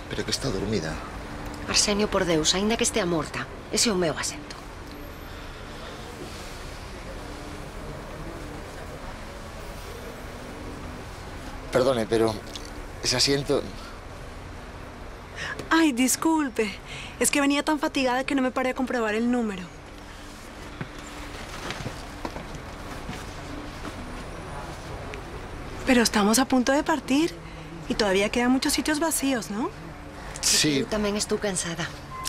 Pero que está dormida. Arsenio, por Deus, aínda que estea morta, ese é o meu asento. Perdone, pero ese asiento... Ay, disculpe. Es que venía tan fatigada que no me paré a comprobar el número. Pero estamos a punto de partir y todavía quedan muchos sitios vacíos, ¿no? Sí. Eu tamén estou cansada.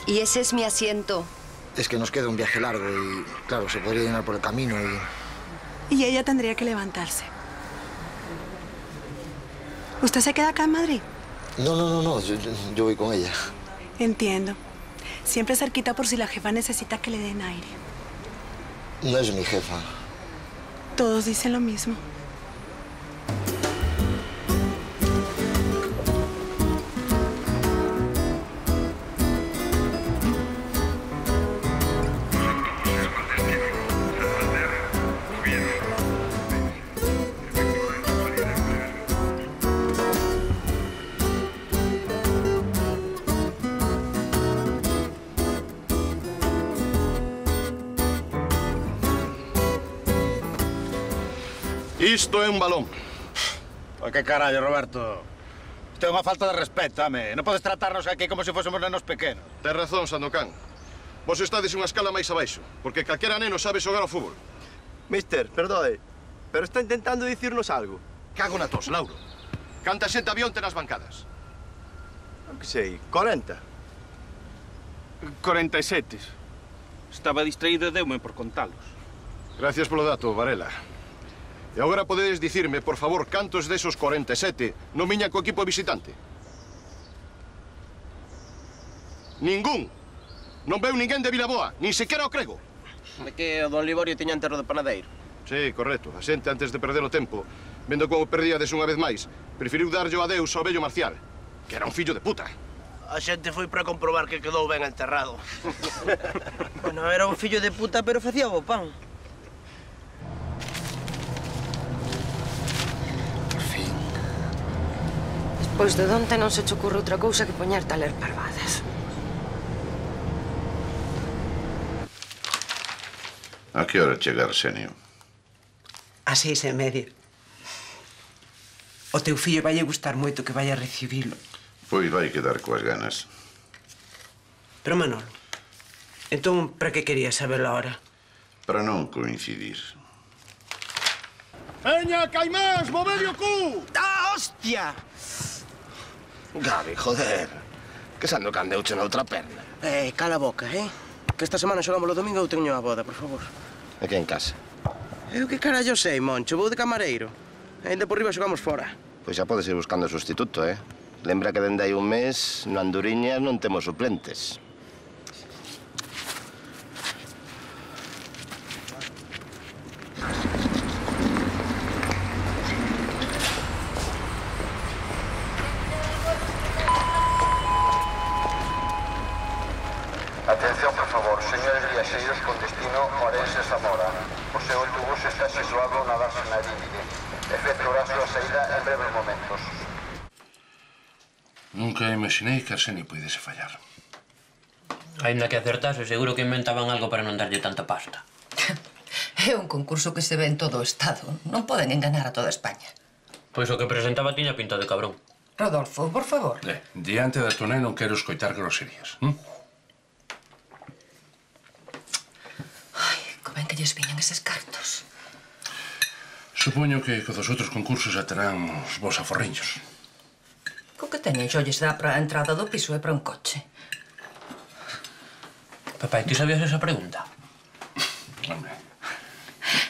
E ese es mi asiento. Es que nos queda un viaje largo y, claro, se podría llenar por el camino y... Y ella tendría que levantarse. ¿Usted se queda acá en Madrid? No, yo voy con ella. Entiendo. Siempre cerquita por si la jefa necesita que le den aire. No es mi jefa. Todos dicen lo mismo. Isto é un balón. Pois que carallo, Roberto. Isto é unha falta de respeto, home. Non podes tratarnos aquí como se fósemos nenos pequenos. Tes razón, Sandokan. Vos estades unha escala máis abaixo, porque calquera neno sabe xogar ao fútbol. Mister, perdoe, pero está intentando dicirnos algo. Cago na tos, Lauro. Canta xente avión nas bancadas. Non que sei, 40. 47. Estaba distraído e deume por contalos. Gracias polo dato, Varela. E agora podedes dicirme, por favor, cantos desos 47 non viñan co equipo visitante? Ningún. Non veu ninguén de Vilaboa, nin sequera o Crego. É que o don Liborio tiña enterro de panadeiro. Sí, correcto. A xente, antes de perder o tempo, vendo como perdíades unha vez máis, preferiu darlle o adeus ao vello Marcial, que era un fillo de puta. A xente foi para comprobar que quedou ben enterrado. Bueno, era un fillo de puta, pero facía bo pan. Pois de onte non se che ocurre outra cousa que poñerte a ler parvadas. A que hora chega Arsenio? A 6:30. O teu fillo vai gustar moito que vai a recibilo. Pois vai quedar coas ganas. Pero, Manolo, entón, para que querías sabelo ahora? Para non coincidir. Veña, Caimás, movede o cu! Ah, hostia! Gabi, joder. Que Sandokan deuche na outra perna. Cala a boca, Que esta semana xogamos o domingo eu teño a boda, por favor. Aquí en casa. Eu que carallo sei, Moncho, vou de camareiro. E ainda por riba xogamos fora. Pois xa podes ir buscando sustituto, Lembra que dende hai un mes no Anduriñas non temos suplentes. Atención, por favor, señores viaxeiros con destino Orense-Zamora. O seu autobús está situado na Dársena Límite. Efectuará a súa saída en breves momentos. Nunca imaginei que Arsenio puidese fallar. Ainda que acertase, seguro que inventaban algo para non darlle tanta pasta. É un concurso que se ve en todo o Estado. Non poden enganar a toda España. Pois o que presentaba tiña pinta de cabrón. Rodolfo, por favor. Diante da tonel non quero escoitar groserías. Ben que lles viñan eses cartos. Supoño que co dos outros concursos xa terán os vos aforriños. Co que teñen xo lles dá para a entrada do piso e para un coche. Papai, ti sabías esa pregunta?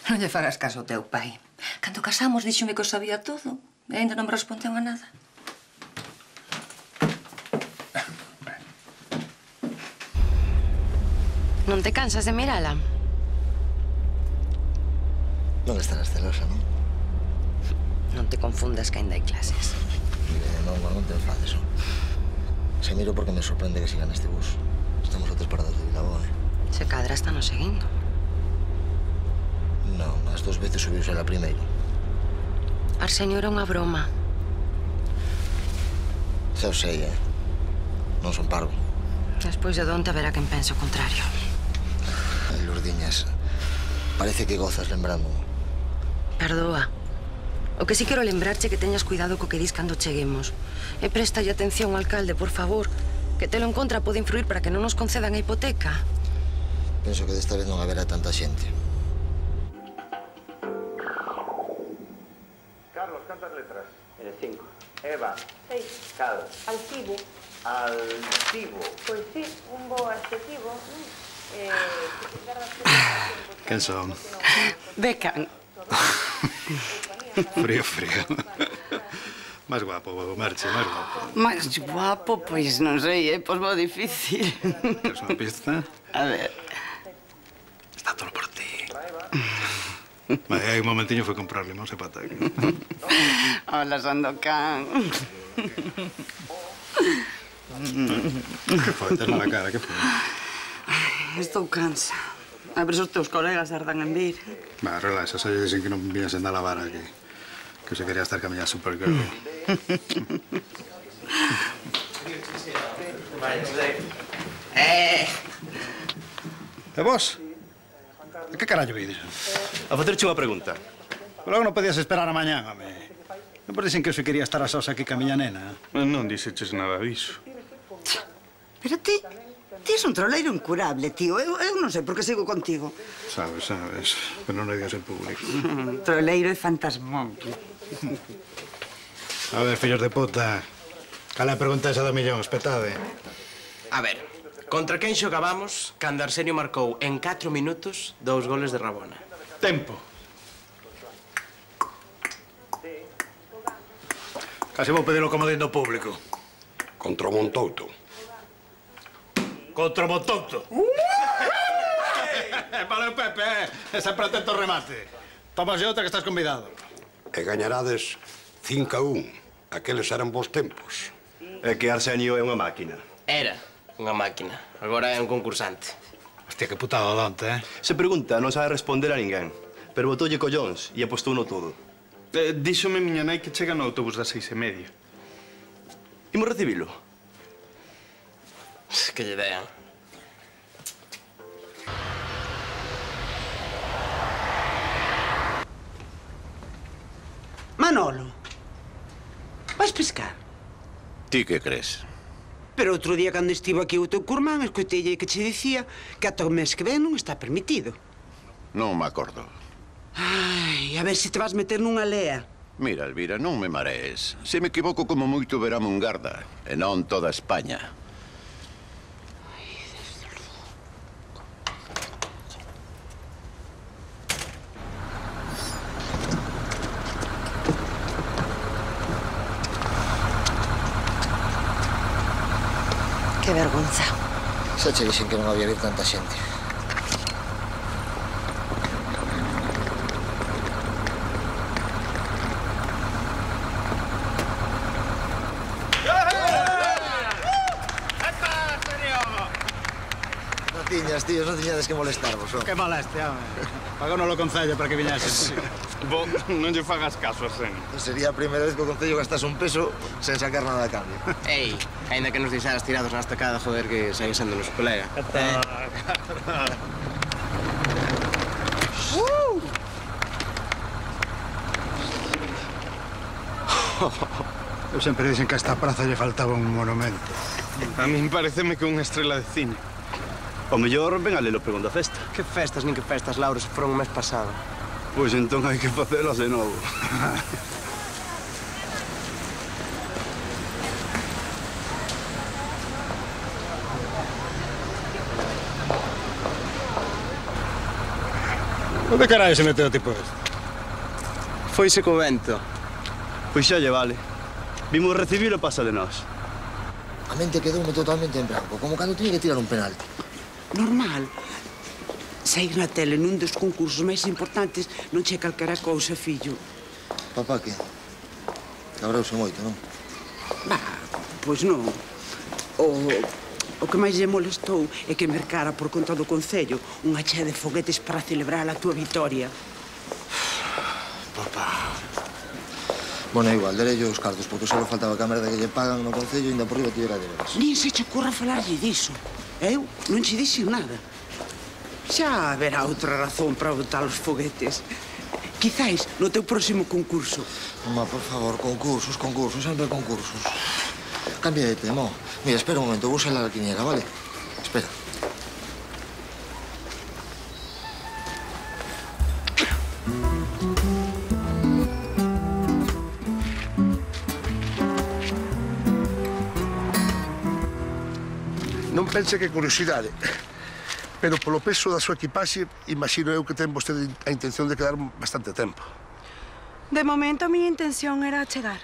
Non lle fagas caso ao teu pai. Cando casamos díxome que o sabía todo e ainda non me respondeu a nada. Non te cansas de mirala? Non estarás celosa, non? Non te confundas que ainda hai clases. Non te enfades, non? Se miro porque me sorprende que sigan este bus. Estamos a 3 paradas de Vilaboa, Se cadra estanos seguindo. Non, as 2 veces subiuse a primeiro. Arsenio, era unha broma. Xa o sei, non son parvo. Despois de onte haberá quen pense o contrario. Lourdiñas, parece que gozas lembrando. Perdoa. O que sí quero lembrarche que teñas cuidado co que dis cando cheguemos. E préstalle atención, alcalde, por favor. Que telo en contra pode influir para que non nos concedan a hipoteca. Penso que desta vez non haberá tanta xente. Carlos, cantas letras? 5. Eva. 6. Cal. Altivo. Altivo. Pois sí, un bo adjetivo. Quen son? Becan. Frío, frío. Más guapo, Merche, más guapo. Máis guapo, pois non sei, pois moi difícil. ¿Quieres una pista? A ver. Está todo por ti. Hai un momentiño foi comprar limón e pataca. Hola, Sandokan. Que foi? Tes mala cara, que foi? Estou cansa. A ver se os teus colegas tardan en vir. Va, relaxa, xa lle dixen que non vienes a lavar aquí. Que se quería estar camiñando Supergirl. E vos? A que carallo vides? A facerche unha pregunta. Logo non podías esperar a mañán, home. Non por dicen que eu se quería estar a sós aquí ca miña nena. Non dixeches nada diso. Pero ti és un troleiro incurable, tío. Eu non sei por que sigo contigo. Sabes, pero non hai de ser público. Troleiro e fantasmón. A ver, fillos de puta. Cal é a pregunta esa do millón? Espetade. A ver, contra quen xogabamos cando Arsenio marcou en 4 minutos 2 goles de Rabona? Tempo. Casi vou pedir o comodín do público. Contra o Montouto. Contra o Montouto. Vale, Pepe, sempre atento ao remate. Tomas outra que estás convidado. E gañarades 5-1. Aqueles eran bons tempos. É que Arsenio é unha máquina. Era unha máquina. Agora é un concursante. Hostia, que putada donte, Se pregunta, non sabe responder a ninguén. Pero botoulle collóns e apostou no todo. Díxome miña nai que chega no autobús das 6:30. Imos recibilo? Que lle dean. Manolo, vais pescar? Ti que crees? Pero outro día, cando estivo aquí o teu curmán, escoitelle que che dicía que ata o mes que ven non está permitido. Non me acordo. Ai, a ver se te vas meter nunha lea. Mira, Elvira, non me marees. Se me equivoco, como moito verame un garda. E non toda España. Que vergonza. Xa che dixen que non había vir tanta xente. Tiñas, tíos, non tiñades que molestarvos, Que molestia, home. Pagónos o Concello para que viñeses. Bo, non lle fagas caso a Sen. Sería a primeira vez que o Concello gastase un peso sen sacar nada a cambio. Ei, ainda que nos deixaras tirados na estacada, joder, que segue sendo nos colega. Eu sempre dicen que a esta praza lle faltaba un monumento. A min pareceme que unha estrela de cine. O mellor ven a ler o pregón da festa. Que festas, nin que festas, Lauro, se foron o mes pasado. Pois entón hai que facelas de novo. Onde caralho se meteu o tipo este? Foise co vento. Pois xa lle vale. Vimos recibir o pasa de nós. A mente quedoume totalmente en branco, como cando tiña que tirar un penalti. Normal. Sair na tele nun dos concursos máis importantes non che calquera cousa, fillo. Papá, que? Cabrouse moito, non? Pois non. O que máis lle molestou é que mercara por conta do Concello unha chea de foguetes para celebrar a túa vitoria. Papá, Bueno, igual, darei os cartos, porque só faltaba que a merda que lle pagan no Concello ainda por riba tivera deberes. Nin se che ocurra falarlle diso. Eu non che dixen nada. Xa haberá outra razón para botar os foguetes. Quizáis no teu próximo concurso. Ma, por favor, concursos, sempre concursos. Cambia de tema. Mira, espera un momento, vou salir a la quiniela, vale? Espera. Non pense que curiosidade, pero polo peso da súa equipaxe, imagino eu que ten vostede a intención de quedar bastante tempo. De momento, mi intención era chegar.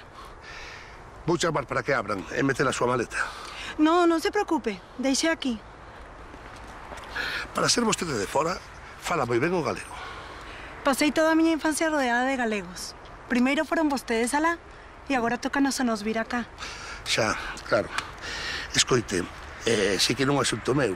Vou chamar para que abran e meter a súa maleta. No, non se preocupe. Deixe aquí. Para ser vostede de fora, fala moi ben o galego. Pasei toda a miña infancia rodeada de galegos. Primeiro foron vostedes alá e agora tócanos a nos vir acá. Xa, claro. Escoite, sei que non é asunto meu,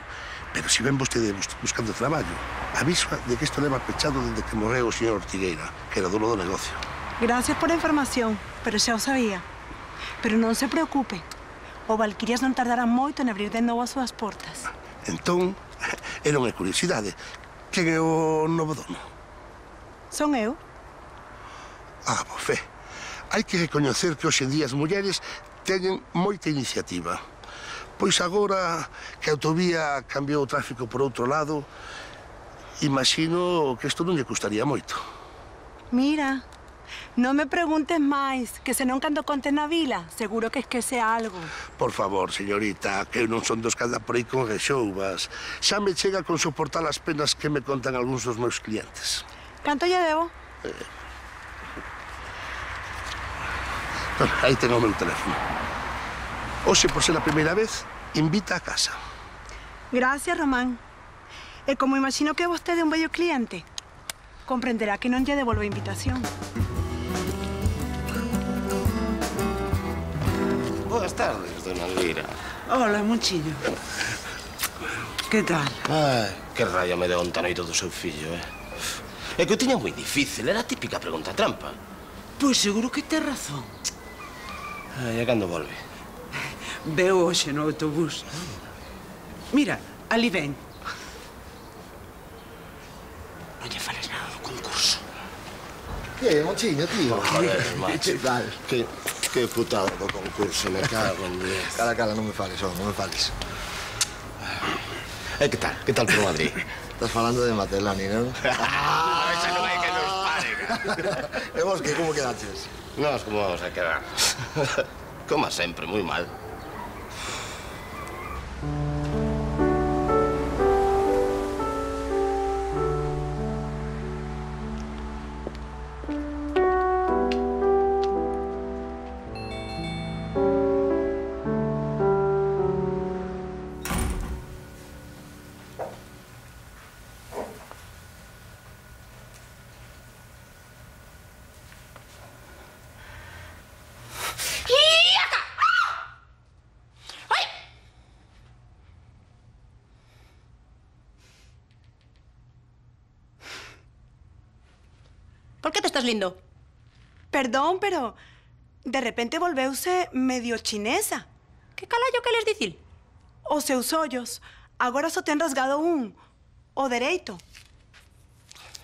pero se ven vostede buscando traballo, aviso de que isto leva pechado desde que morreu o señor Ortigueira, que era dono do negocio. Gracias por a información, pero xa o sabía. Pero non se preocupe. O Valquirias non tardará moito en abrir de novo as súas portas. Entón, era unha curiosidade. Quen é o novo dono? Son eu. Ah, bofé. Hai que recoñecer que hoxe en día as mulleres teñen moita iniciativa. Pois agora que a autovía cambiou o tráfico por outro lado, imagino que isto non lle custaría moito. Mira, non me preguntes máis, que senón cando contes na vila, seguro que esquece algo. Por favor, señorita, que eu non son dos que anda por aí con rexoubas. Xa me chega con soportar as penas que me contan algúns dos meus clientes. Canto lle debo? Aí ten o meu teléfono. Hoxe, por ser a primeira vez, invita a casa. Gracias, Román. E como imagino que vostede é un bello cliente, comprenderá que non lle devolvo a invitación. Boas tardes, dona Elvira. Hola, Monchiño. Que tal? Ai, que raya me deu onta noite do seu fillo, É que o tiña moi difícil, era a típica pregunta trampa. Pois seguro que tes razón. Ai, e cando volve? Veo hoxe no autobús. Mira, ali ven. Non lle fales nada do concurso. Que, Monchiño, tío? Joder, macho. Que putada do concurso, me cago en 10. Cala, non me fales, non me fales. E que tal? Que tal por Madrid? Estás falando de Matelani, non? Esa non hai que nos pare. E vos, que como quedaches? Nós como vamos a quedar? Como sempre, moi mal. Por que te estás lindo? Perdón, pero de repente volveuse medio chinesa. Que calallo que les dicir? Os seus ollos agora só ten rasgado un, o dereito.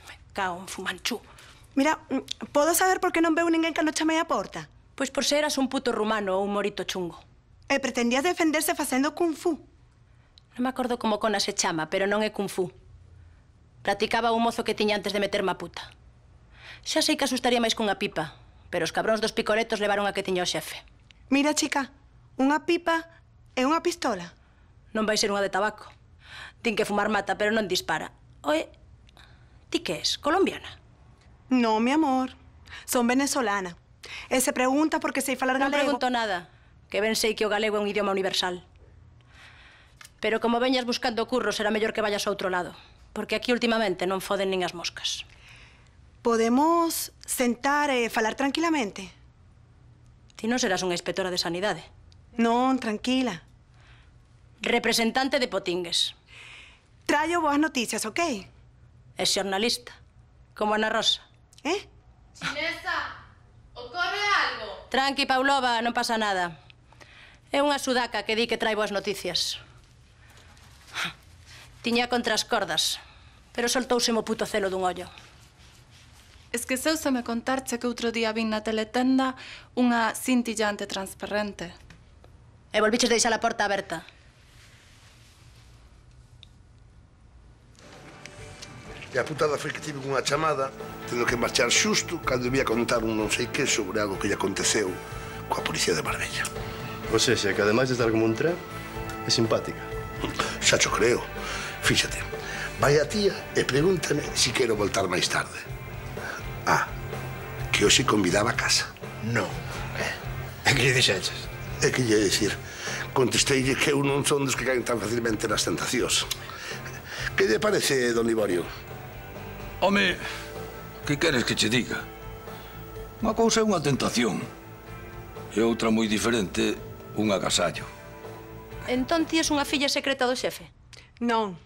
Me cago en Fumanchu. Mira, podo saber por que non veu ninguén cando chamei a porta? Pois por ser eras un puto rumano ou un morito chungo. E pretendías defenderse facendo kung fu. Non me acordo como cona se chama, pero non é kung fu. Practicaba un mozo que tiña antes de meterme a puta. Xa sei que asustaría máis cunha pipa, pero os cabróns dos picoletos levaron a que tiña o xefe. Mira, chica, unha pipa e unha pistola. Non vai ser unha de tabaco. Din que fumar mata, pero non dispara. Oe, ti que és? Colombiana? No, mi amor. Son venezolana. E se pregunta por que sei falar galego... Non pregunto nada, que ben sei que o galego é un idioma universal. Pero como veñas buscando curro, será mellor que vayas a outro lado, porque aquí últimamente non foden nin as moscas. Podemos sentar e falar tranquilamente? Ti non serás unha inspectora de sanidade. Non, tranquila. Representante de Potingues. Traio boas noticias, ok? É xornalista, como Ana Rosa. Eh? Chinesa, Ocorre algo? Tranqui, Paulova, non pasa nada. É unha sudaca que di que trae boas noticias. Tiña contra as cordas, pero soltouse mo puto celo dun ollo. Esqueceuse me contarche que outro día vin na teletenda unha cintillante transparente. E volviches deixar a porta aberta. E a putada foi que tive unha chamada, tendo que marchar xusto cando ia contar un non sei que sobre algo que lle aconteceu coa policía de Marbella. O sexa, que ademais de estar como un tren, é simpática. Xa cho creo. Fíxate, vai a tía e pregúntame si quero voltar máis tarde. Ah, que hoxe convidaba a casa. Non. E que lle dixeches? É que lle dicir, contesteille que eu non son dos que caen tan facilmente nas tentacións. Que lle parece, don Liborio? Home, que queres que che diga? Unha cousa é unha tentación e outra moi diferente, un agasallo. Entón ti és unha filla secreta do xefe? Non.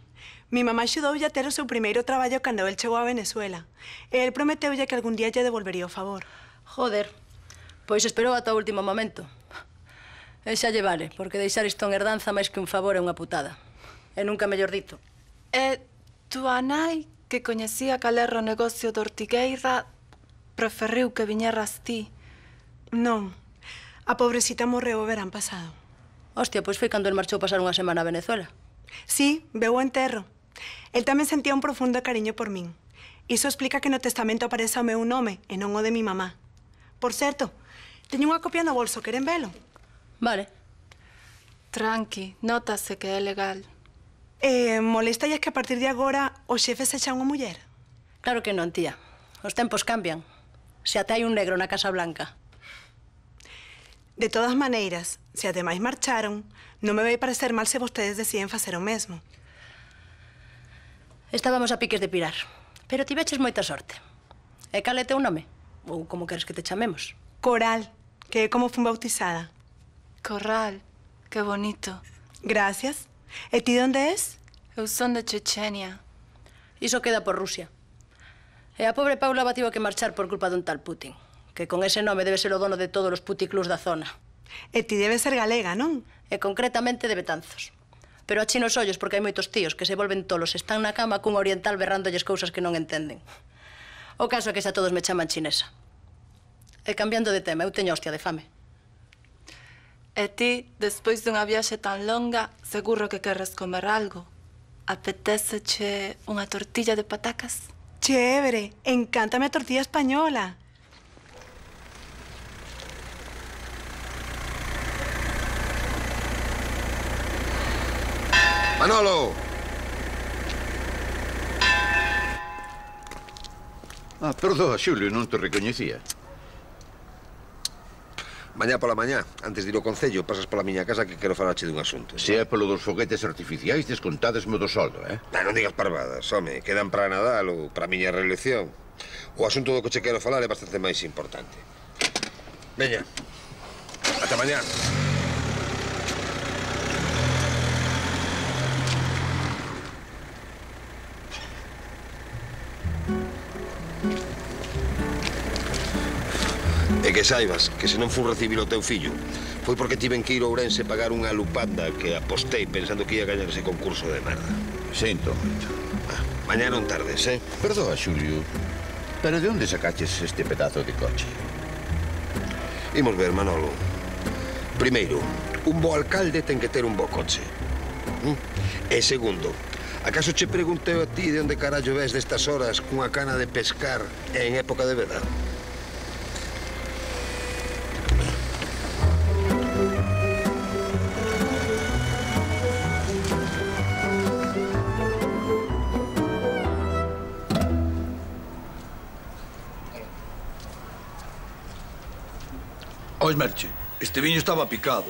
Mi mamá axudoulle a ter o seu primeiro traballo cando el chegou a Venezuela. E el prometeulle que algún día lle devolvería o favor. Joder, pois esperou ata o último momento. E xa lle vale, porque deixar isto en herdanza máis que un favor é unha putada. E nunca mellor dito. E túa nai, que coñecía cal era o negocio de Ortigueira, preferiu que viñeras ti. Non. A pobrecita morreu o verán pasado. Hostia, pois foi cando el marchou pasar unha semana a Venezuela. Sí, veu o enterro. El tamén sentía un profundo cariño por min. Iso explica que no testamento apareza o meu nome e non o de mi mamá. Por certo, teño unha copia no bolso, queren velo? Vale. Tranqui, nótase que é legal. Molesta que a partir de agora o xefe sexa unha muller? Claro que non, tía. Os tempos cambian. Se ata hai un negro na Casa Blanca. De todas maneiras, se ademais marcharon, non me vai parecer mal se vostedes deciden facer o mesmo. Estábamos a piques de pirar, pero tiveches moita sorte. E cal é teu nome? Ou como queres que te chamemos? Coral, que é como fun bautizada. Corral, que bonito. Gracias. E ti onde es? Eu son de Chechenia. Iso queda por Rusia. E a pobre Paulova tivo que marchar por culpa dun tal Putin, que con ese nome debe ser o dono de todos os puticlubs da zona. E ti debe ser galega, non? E concretamente de Betanzos. Pero achino os ollos porque hai moitos tíos que se volven tolos, están na cama cun oriental berrándolles cousas que non entenden. O caso é que xa todos me chaman chinesa. E cambiando de tema, eu teño hostia de fame. E ti, despois dunha viaxe tan longa, seguro que queres comer algo. Apetéceche unha tortilla de patacas? Chévere, encántame a tortilla española. Manolo! Ah, perdoa, Xulio, non te recoñecía. Mañá pola mañá, antes de ir ao Concello, pasas pola miña casa que quero falache dun asunto. Se é polo dos foguetes artificiais, descontadesme do soldo, eh? Non digas parvadas, home, quedan para Nadal ou para a miña reelección. O asunto do que che quero falar é bastante máis importante. Veña, ata mañá. E que saibas que se non fun recibir o teu fillo foi porque tiven que ir a Ourense pagar unha lupanda que apostei pensando que ia gañar ese concurso de merda. Sinto moito. Mañá non tardes, eh? Perdoa, Xulio, pero de onde sacaches este pedazo de coche? Imos ver, Manolo. Primeiro, un bo alcalde ten que ter un bo coche. E segundo, acaso che preguntei a ti de onde carallo ves destas horas cunha cana de pescar en época de veda? Ois, Merche, este viño estaba picado.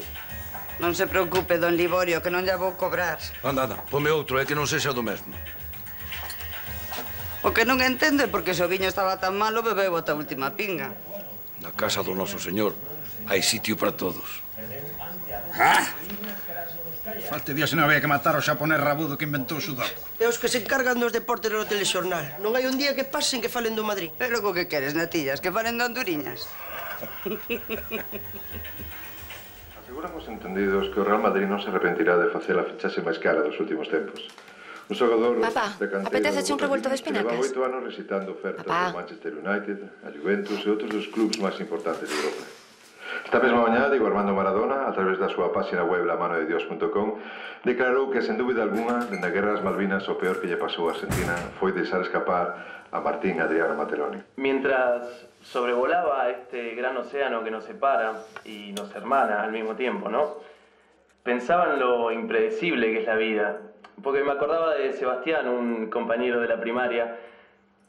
Non se preocupe, don Liborio, que non lla vou cobrar. Anda, pome outro, é que non sexa do mesmo. O que non entendo é porque se o viño estaba tan malo, bebeu ata a última pinga. Na casa do noso señor hai sitio para todos. Falte días non había que matar o xaponés rabudo que inventou o sudaco. E os que se encargan dos deportes no telexornal. Non hai un día que pasen que falen do Madrid. E logo que queres, natillas? Que falen de Honduriñas? Aseguramos entendidos que o Real Madrid non se arrepentirá de facer a fichaxe máis cara dos últimos tempos. Un xogador Papá, de cantera... apetece un revuelto de espinacas? Que leva 8 anos recitando ofertas do Manchester United, a Juventus e outros dos clubs máis importantes de Europa. Esta mesma mañá, Diego Armando Maradona, a través da súa páxina web lamanodedios.com, declarou que, sen dúbida alguna, dende a Guerra das Malvinas, o peor que lle pasou a Argentina foi deixar escapar a Martín Adriano Mateloni. Mientras sobrevolaba este gran océano que nos separa y nos hermana al mismo tiempo, ¿no? Pensaba en lo impredecible que es la vida, porque me acordaba de Sebastián, un compañero de la primaria,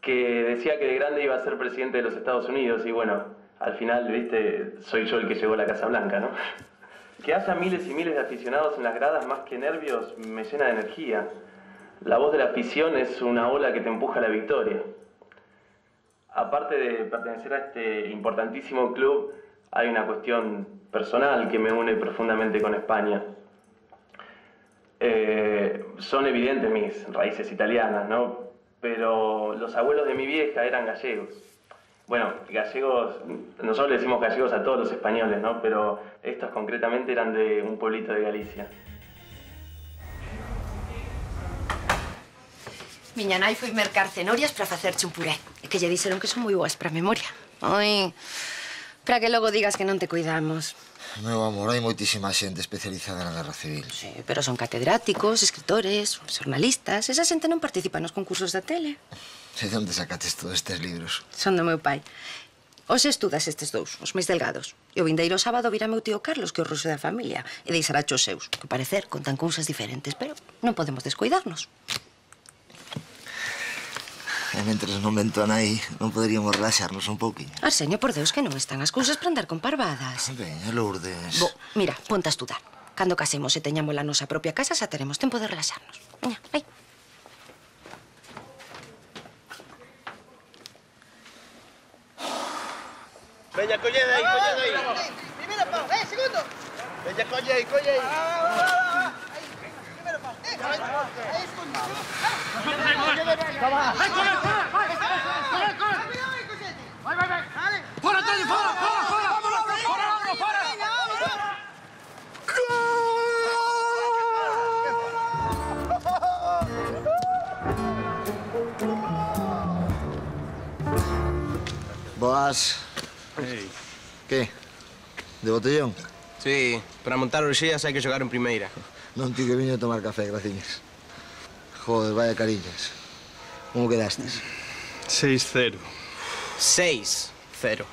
que decía que de grande iba a ser presidente de los Estados Unidos y bueno, al final, viste, soy yo el que llegó a la Casa Blanca, ¿no? Que haya miles y miles de aficionados en las gradas más que nervios me llena de energía. La voz de la afición es una ola que te empuja a la victoria. Aparte de pertenecer a este importantísimo club, hay una cuestión personal que me une profundamente con España. Son evidentes mis raíces italianas, ¿no? Pero los abuelos de mi vieja eran gallegos. Bueno, gallegos, nosotros le decimos gallegos a todos los españoles, ¿no? Pero estos concretamente eran de un pueblito de Galicia. Miña nai foi mercar cenorias para facerche un puré. E que lle dixeron que son moi boas para a memoria. Ai, para que logo digas que non te cuidamos. Meu amor, hai moitísima xente especializada na Guerra Civil. Sí, pero son catedráticos, escritores, xornalistas. Esa xente non participa nos concursos da tele. E de onde sacates todos estes libros? Son do meu pai. Hoxe estudas estes dous, os máis delgados. E o vindeiro sábado virá meu tío Carlos, que é o ruso da familia, e deixará os seus, que parecer contan cousas diferentes, pero non podemos descuidarnos. E mentres non vento a nai, non poderíamos relaxarnos un pouquinho. Arsenio, por Deus, que non están as cousas para andar con parvadas. Veña, Lourdes. Bo, mira, ponte a estudar. Cando casemos e teñamos a nosa propia casa, xa teremos tempo de relaxarnos. Veña, vai. Veña, collede aí, collede aí. Primeiro pau, segundo. Veña, colle aí, colle aí. Primeiro pau. Aí, segundo. Vai. Fora, Antonio, fora. Boas. Ei. Que? De botellón? Sí, para montar orxías hai que xogar en primeira. Non ti que viño a tomar café, graciñas. Joder, vaya cariñas. Como quedastes? 6-0. 6-0.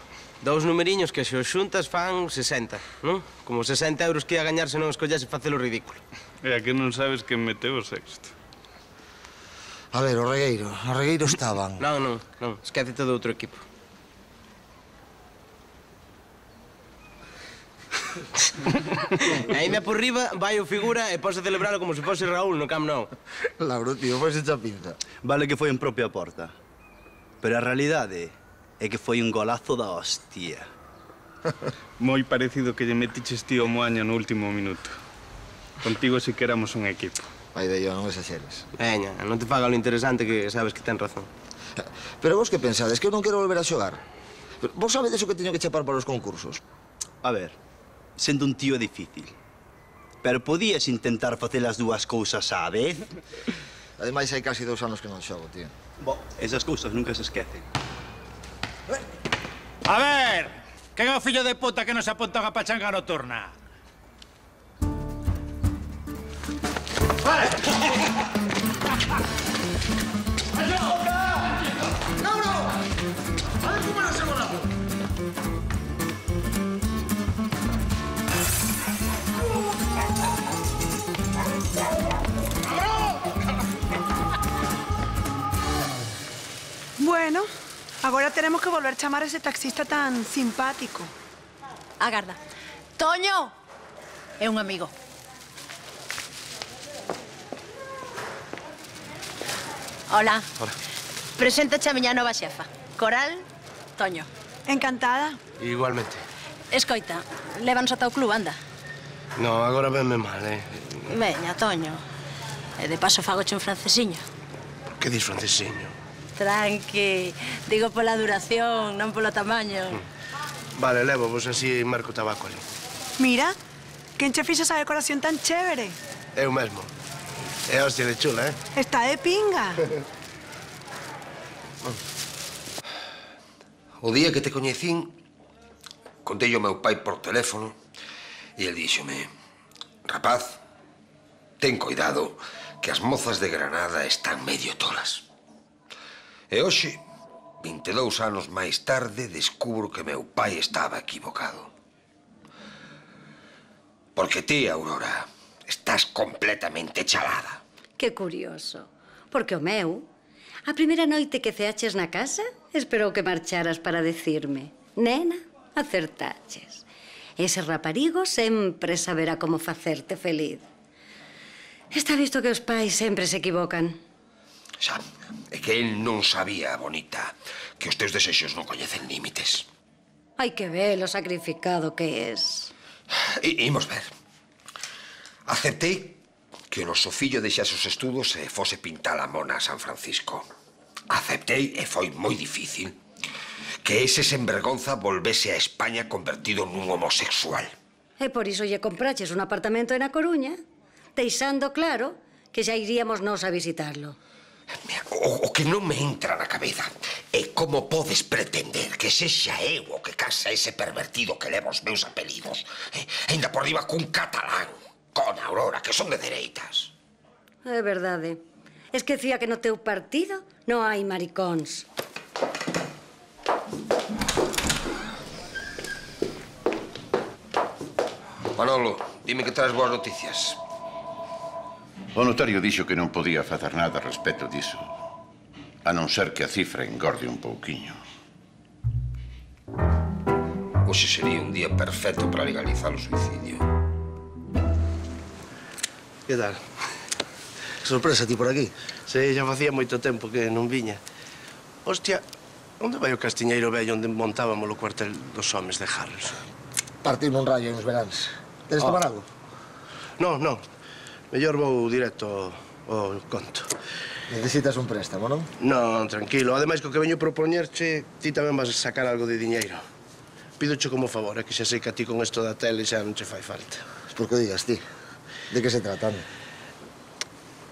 Dous numeriños que se os xuntas fan 60, non? Como 60 euros que ia gañar se non escollese facelo ridículo. E a que non sabes que meteu o sexto? A ver, o Regueiro estaban... Non, esquécete do outro equipo. E ainda por riba vai o figura e pode celebralo como se fose Raúl no Camp Nou. Lauro, tío, foi esa pinta. Vale que foi en propia porta. Pero a realidade é que foi un golazo da hostia. Moi parecido que lle metiches tío Moaño no último minuto. Contigo si que éramos un equipo. Vai de yo, non exaxeres. Veña, non te faga lo interesante que sabes que ten razón. Pero vos que pensades? Que eu non quero volver a xogar? Vos sabedes o que teño que chapar para os concursos? A ver, sendo un tío difícil. Pero podías intentar facer as dúas cousas á vez? Ademais, hai casi 2 anos que non xogo, tío. Bo, esas cousas nunca se esquecen. A ver, quen é o fillo de puta que nos apunta unha pachanga nocturna? Vale! ¡Lauro! ¡A ver cómo era ese golazo! Bueno, agora teremos que volver chamar a ese taxista tan simpático. Agarda. Toño! É un amigo. Hola. Hola. Preséntache a miña nova xefa. Coral, Toño. Encantada. Igualmente. Escoita, lévanos ata o club, anda. No, agora venme mal, Veña, Toño. E de paso fagoche un francesiño. Que dis francesiño? Tranqui. Digo pola duración, non polo tamaño. Vale, levo, vos así marco tabaco ali. Mira, quen che fixo esa decoración tan chévere? Eu mesmo. É hostia de chula, Está de pinga. O día que te coñecín, contei ao meu pai por teléfono e el díxome: rapaz, ten cuidado que as mozas de Granada están medio tolas. E hoxe, 22 anos máis tarde, descubro que meu pai estaba equivocado. Porque ti, Aurora, estás completamente chalada. Que curioso. Porque o meu, a primeira noite que ceaches na casa, esperou que marcharas para decirme: nena, acertaches. Ese raparigo sempre saberá como facerte feliz. Está visto que os pais sempre se equivocan. Xa, é que el non sabía, bonita, que os teus desexos non coñecen límites. Hai que ver o sacrificado que es. Imos ver. Aceptei que o noso fillo deixase os estudos e fose pintar a mona a San Francisco. Aceptei, e foi moi difícil, que ese senvergonza volvese a España convertido nun homosexual. E por iso lle compraches un apartamento na Coruña, deixando claro que xa iríamos nós a visitarlo. O que non me entra na cabeza é como podes pretender que sexa eu o que casa ese pervertido que leva os meus apelidos. Ainda por riba cun catalán, con Aurora, que son de dereitas. É verdade. Esquecía que no teu partido non hai maricóns. Manolo, dime que traes boas noticias. O notario dixo que non podía facer nada a respecto diso, a non ser que a cifra engorde un pouquiño. Hoxe sería un día perfecto para legalizar o suicidio. Que tal? Sorpresa ti por aquí. Sí, xa facía moito tempo que non viña. Hostia, onde vai o castiñeiro vello onde montábamos o cuartel dos homes de Harris? Partiu nun rayo uns veráns. Tenes tomar algo? Non, non. Mellor vou directo ao conto. Necesitas un préstamo, non? Non, tranquilo. Ademais, co que veño propoñerche, ti tamén vas a sacar algo de diñeiro. Pídoche como favor, que xa sei que a ti con isto da tele xa non che fai falta. Por que o digas ti? De que se trata?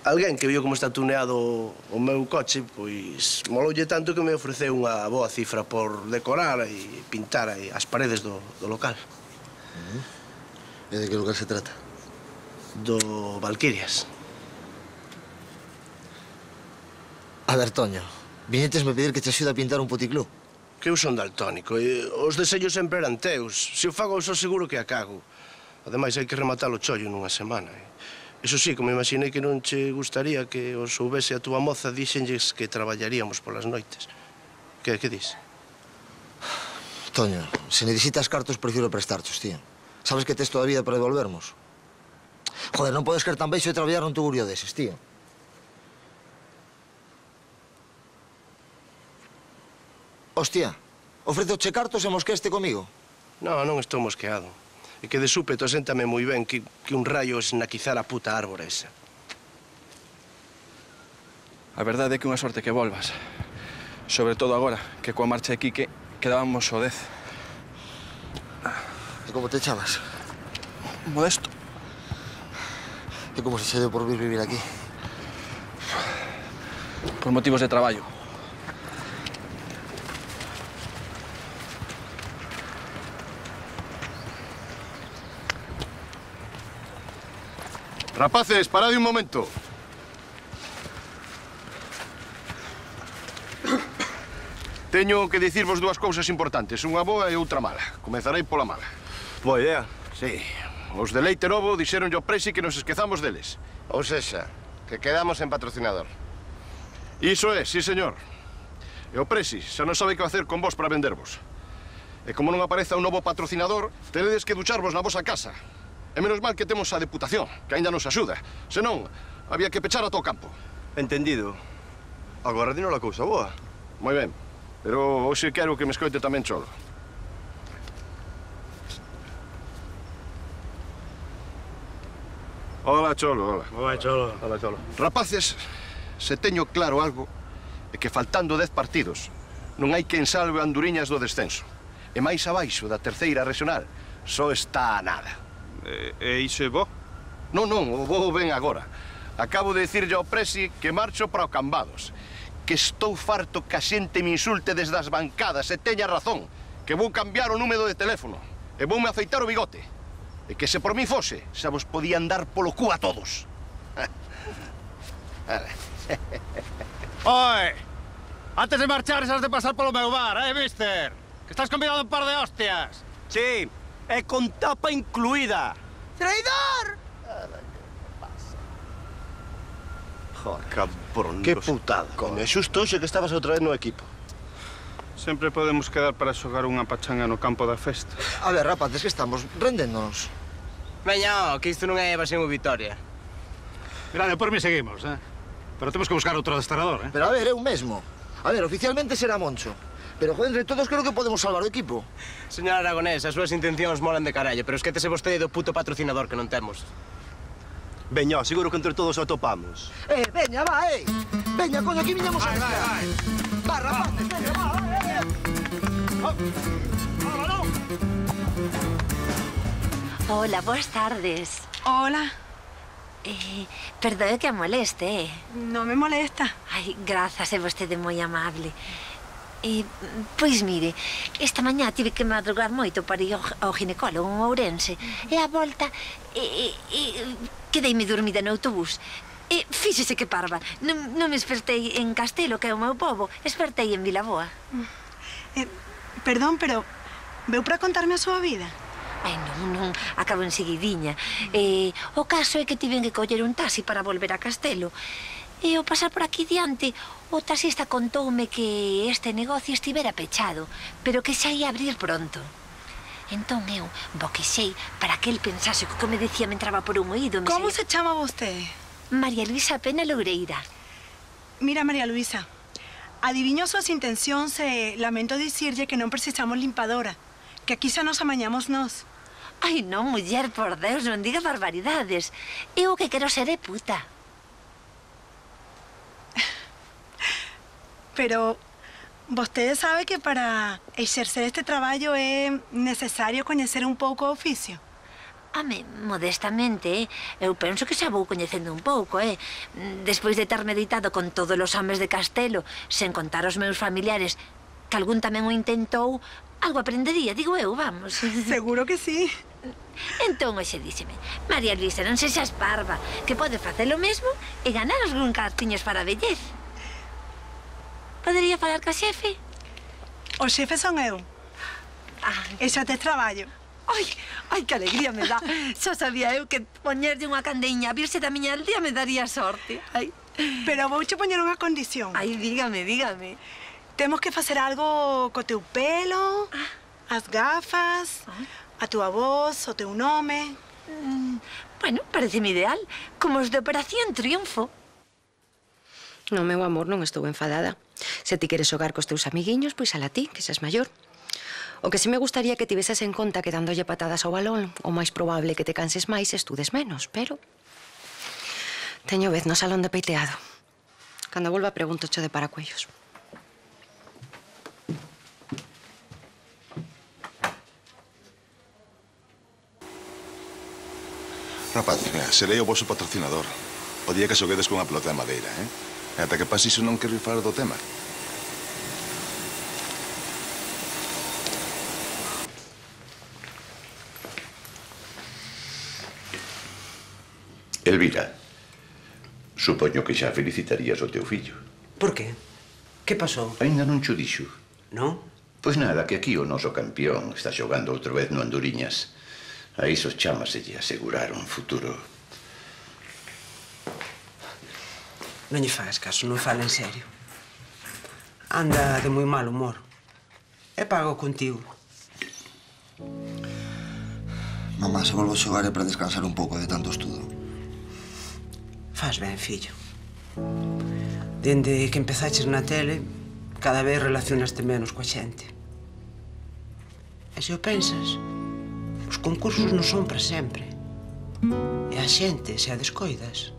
Alguén que viu como está tuneado o meu coche, pois moloulle tanto que me ofreceu unha boa cifra por decorar e pintar aí as paredes do local. E de que lugar se trata? Do Valquirias. A ver, Toño, viñetesme pedir que te axude a pintar un puticlú. Que eu son daltónico e os deseños sempre eran teus. Se o fago, só seguro que a cago. Ademais, hai que rematar o chollo nunha semana. Eso sí, como imaginei que non che gustaría que os soubese a túa moza, díxenlles que traballaríamos polas noites. Que dis? Toño, se necesitas cartos, prefiro prestarchos, tío. Sabes que tes toda a vida para devolvermos. Joder, non podes ser tan beixo de traballar nun tugurio deses, tío. Hostia, ofrezoche cartos e mosqueste comigo? Non, non estou mosqueado. E que de súpeto séntame moi ben que un raio esnaquizara a puta árbore esa. A verdade é que unha sorte que volvas. Sobre todo agora, que coa marcha de Quique quedábamos o 10. E como te chamas? Modesto. E como se che deu por vir vivir aquí? Por motivos de traballo. Rapaces, parade un momento. Teño que dicirvos dúas cousas importantes, unha boa e outra mala. Comezarei pola mala. Boa idea. Sí. Os de Leite Novo dixeronlle ao Presi que nos esquezamos deles. Ou sexa, que quedamos en patrocinador. Iso é, sí, señor. E o Presi xa non sabe que facer con vos para vendervos. E como non apareza un novo patrocinador, teredes que ducharvos na vosa casa. E menos mal que temos a Deputación, que aínda nos axuda. Senón, había que pechar a todo o campo. Entendido. Agora dino a cousa boa. Moi ben, pero hoxe quero que me escoite tamén Cholo. Hola, Cholo, hola. Hola, Cholo. Hola, Cholo. Rapaces, se teño claro algo, é que faltando 10 partidos, non hai quen salve a Anduriñas do descenso. E máis abaixo da terceira regional só está a nada. E iso é bo? Non, o bo ven agora. Acabo de dicirlle ao Presi que marcho para o Cambados. Que estou farto que a xente me insulte desde as bancadas e teña razón. Que vou cambiar o número de teléfono. E voume afeitar o bigote. E que se por mí fose, xa vos podían dar polo cu a todos. Oi! Antes de marchar, has de pasar polo meu bar, mister? Que estás convidado un par de hostias. Sí, e con tapa incluída. ¡Traidor! Joder, cabrón. Que putada. Coño, é xusto hoxe que estabas outra vez no equipo. Sempre podemos quedar para xogar unha pachanga no campo da festa. A ver, rapaces, que estamos rendéndonos. Veña, que isto non é evasión ou vitoria. Mirade, por mí seguimos, Pero temos que buscar outro adestrador, Pero a ver, eu mesmo. A ver, oficialmente será Moncho. Pero, joder, entre todos creo que podemos salvar o equipo. Señor Aragonés, as súas intencións molan de carallo, pero esquétese vostede do puto patrocinador que non temos. Veña, seguro que entre todos o atopamos. Veña, va, Veña, coño, aquí viñamos a buscar. Vai. Va, rapaces, veña, va. Hola, boas tardes. Hola. Perdoe que a moleste, No me molesta. Ai, grazas, é vostede moi amable. Pois mire, esta mañá tive que madrugar moito para ir ao ginecólogo en Ourense. E a volta, quedeime dormida no autobús. Fíxese que parva. Non me espertei en Castelo, que é o meu pobo. Espertei en Vilaboa. Perdón, pero veu para contarme a súa vida? Ai, non, acabo enseguidiña. O caso é que tiven que coller un taxi para volver a Castelo. E ao pasar por aquí diante, o taxista contoume que este negocio estivera pechado, pero que xa ia abrir pronto. Entón eu boquexei para que el pensase que o que me decía me entraba por un oído. Como se chama vostede? María Luisa Pena Loureira. Mira, María Luisa, adiviño súas intencións e lamento dicirlle que non precisamos limpadora, que aquí xa nos amañamos nós. Ai, non, muller, por Deus, non diga barbaridades. Eu o que quero ser é puta. Pero vostede sabe que para exercer este traballo é necesario coñecer un pouco o oficio. Home, modestamente, eu penso que xa vou coñecendo un pouco, Despois de ter meditado con todos os homes de Castelo, sen contar os meus familiares, que algún tamén o intentou, algo aprendería, digo eu, vamos. Seguro que sí. Entón, hoxe díxeme, María Luisa, non sexas parva, que pode facer o mesmo e ganar algún cartiños para a vellez. Podería falar ca xefe? O xefe son eu. E xa tes traballo. Ai, que alegría me dá. Xa sabía eu que poñerlle unha candeña a virse da miña aldea me daría sorte. Ai. Pero vouche poñer unha condición. Ai, dígame. Temos que facer algo co teu pelo, as gafas, a túa voz, o teu nome. Bueno, pareceme ideal. Como os de Operación Triunfo. No, meu amor, non estou enfadada. Se ti queres xogar cos teus amiguiños, pois ala ti, que seas maior. O que sí me gustaría que tiveses en conta que dándolle patadas ao balón, o máis probable que te canses máis e estudes menos, pero... Teño vez no salón de peiteado. Cando volva pregunto cho de paracuellos. Rapaz, mira, serei o vosso patrocinador. O día que xoguedes con a pelota de madeira, E ata que pase iso non quero falar do tema. Elvira, supoño que xa felicitarías o teu fillo. Por qué? Que pasou? Ainda non cho dixo. Non? Pois nada, que aquí o noso campeón está xogando outra vez no Anduriñas. A iso chámaselle asegurar un futuro. Non lle fagas caso, non fala en serio. Anda de moi mal humor. E pago contigo. Mamá, se volvo a xogar é para descansar un pouco de tanto estudo. Faz ben, fillo. Dende que empezaches na tele, cada vez relacionaste menos coa xente. E se o pensas, os concursos non son para sempre. E a xente, se a descoidas,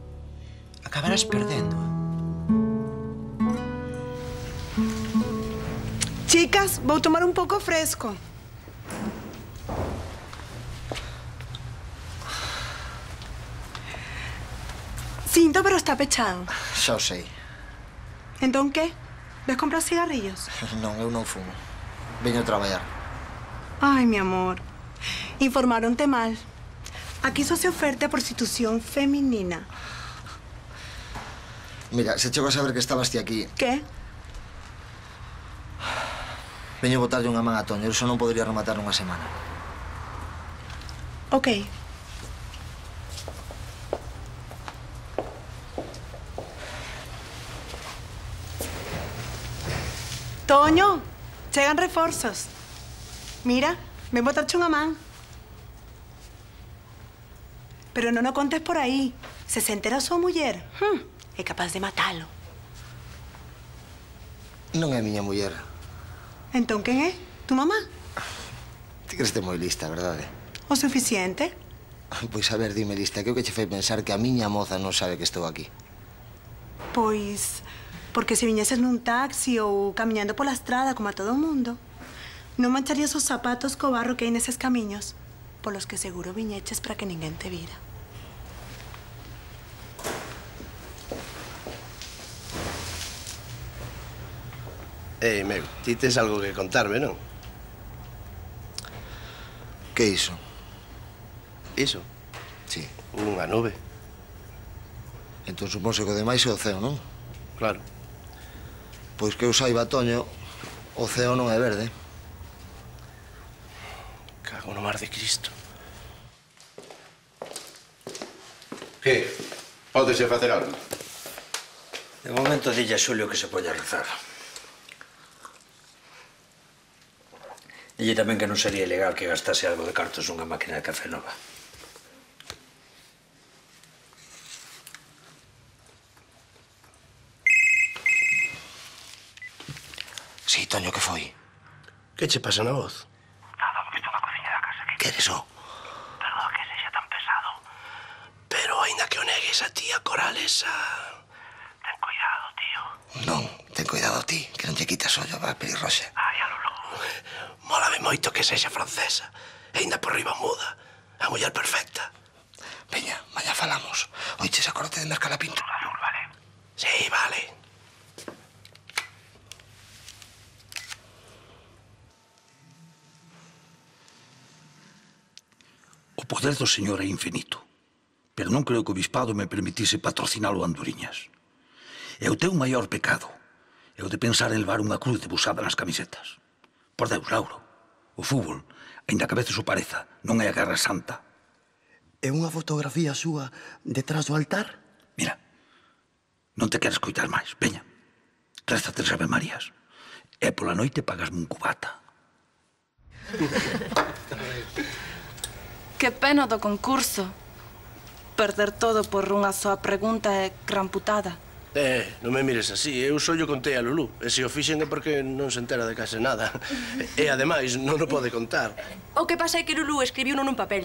acabarás perdendo. Chicas, vou tomar un pouco fresco. Sinto, pero está pechado. Xa o sei. Entón, que? Ves comprar cigarrillos? Non, eu non fumo. Veño a traballar. Ai, mi amor. Informaronte mal. Aquí só se oferta prostitución feminina. Mira, se chego a saber que estabas ti aquí, Que? veño botarlle unha man a Toño. Eu só non podría rematar nunha semana. Ok. Toño, chegan reforzos. Mira, ven botarche unha man. Pero non o contes por aí. Se entera a súa muller, é capaz de matalo. Non é a miña muller. Entón, quen é? Tu mamá? Ti creste moi lista, verdade? O suficiente? Pois a ver, dime lista, que é o que che fai pensar que a miña moza non sabe que estou aquí? Pois, porque se viñeses nun taxi ou camiñando pola estrada como a todo o mundo, non mancharías os zapatos co barro que hai neses camiños, polos que seguro viñeches para que ninguén te vira. Meu, ti tes algo que contarme, non? Que iso? Iso? Sí. Unha nube. Entón supónse que o demais é o ceo, non? Claro. Pois que eu saiba, Toño, o ceo non é verde. Cago no mar de Cristo. Que? Pódese facer algo? De momento dille a Xulio que se poña a rezar. Dille tamén que non sería ilegal que gastase algo de cartos nunha máquina de café nova. Sí, Toño, que foi? Que che pasa na voz? Nada, que estou na cociña da casa. Que eres o? Perdón que sexa tan pesado. Pero aínda que o negues a tía Coralesa... Ten cuidado, tío. Non, ten cuidado ti, que non lle quitas ollo a pelirroxa. Ai, a Lulú. Mólame moito que sexa francesa. E aínda por riba muda. A muller perfecta. Veña, mañá falamos. Oiches, acórdate de mercar a pintura. Vale. Sí, vale. O poder do señor é infinito, pero non creo que o bispado me permitise patrocinalo a Anduriñas. E o teu maior pecado é o de pensar en levar unha cruz debusada nas camisetas. Por Deus, Lauro, o fútbol, aínda que a veces o pareza, non é a guerra santa. É unha fotografía súa detrás do altar? Mira, non te queres coitar máis, veña. Reza 3 Ave Marías. E pola noite pagasme un cubata. Que pena do concurso. Perder todo por unha soa pregunta é gran putada. Non me mires así. Eu só yo contei a Lulú. E se o fixen é porque non se entera de case nada. E, ademais, non o pode contar. O que pasa é que Lulú escribiu nun papel.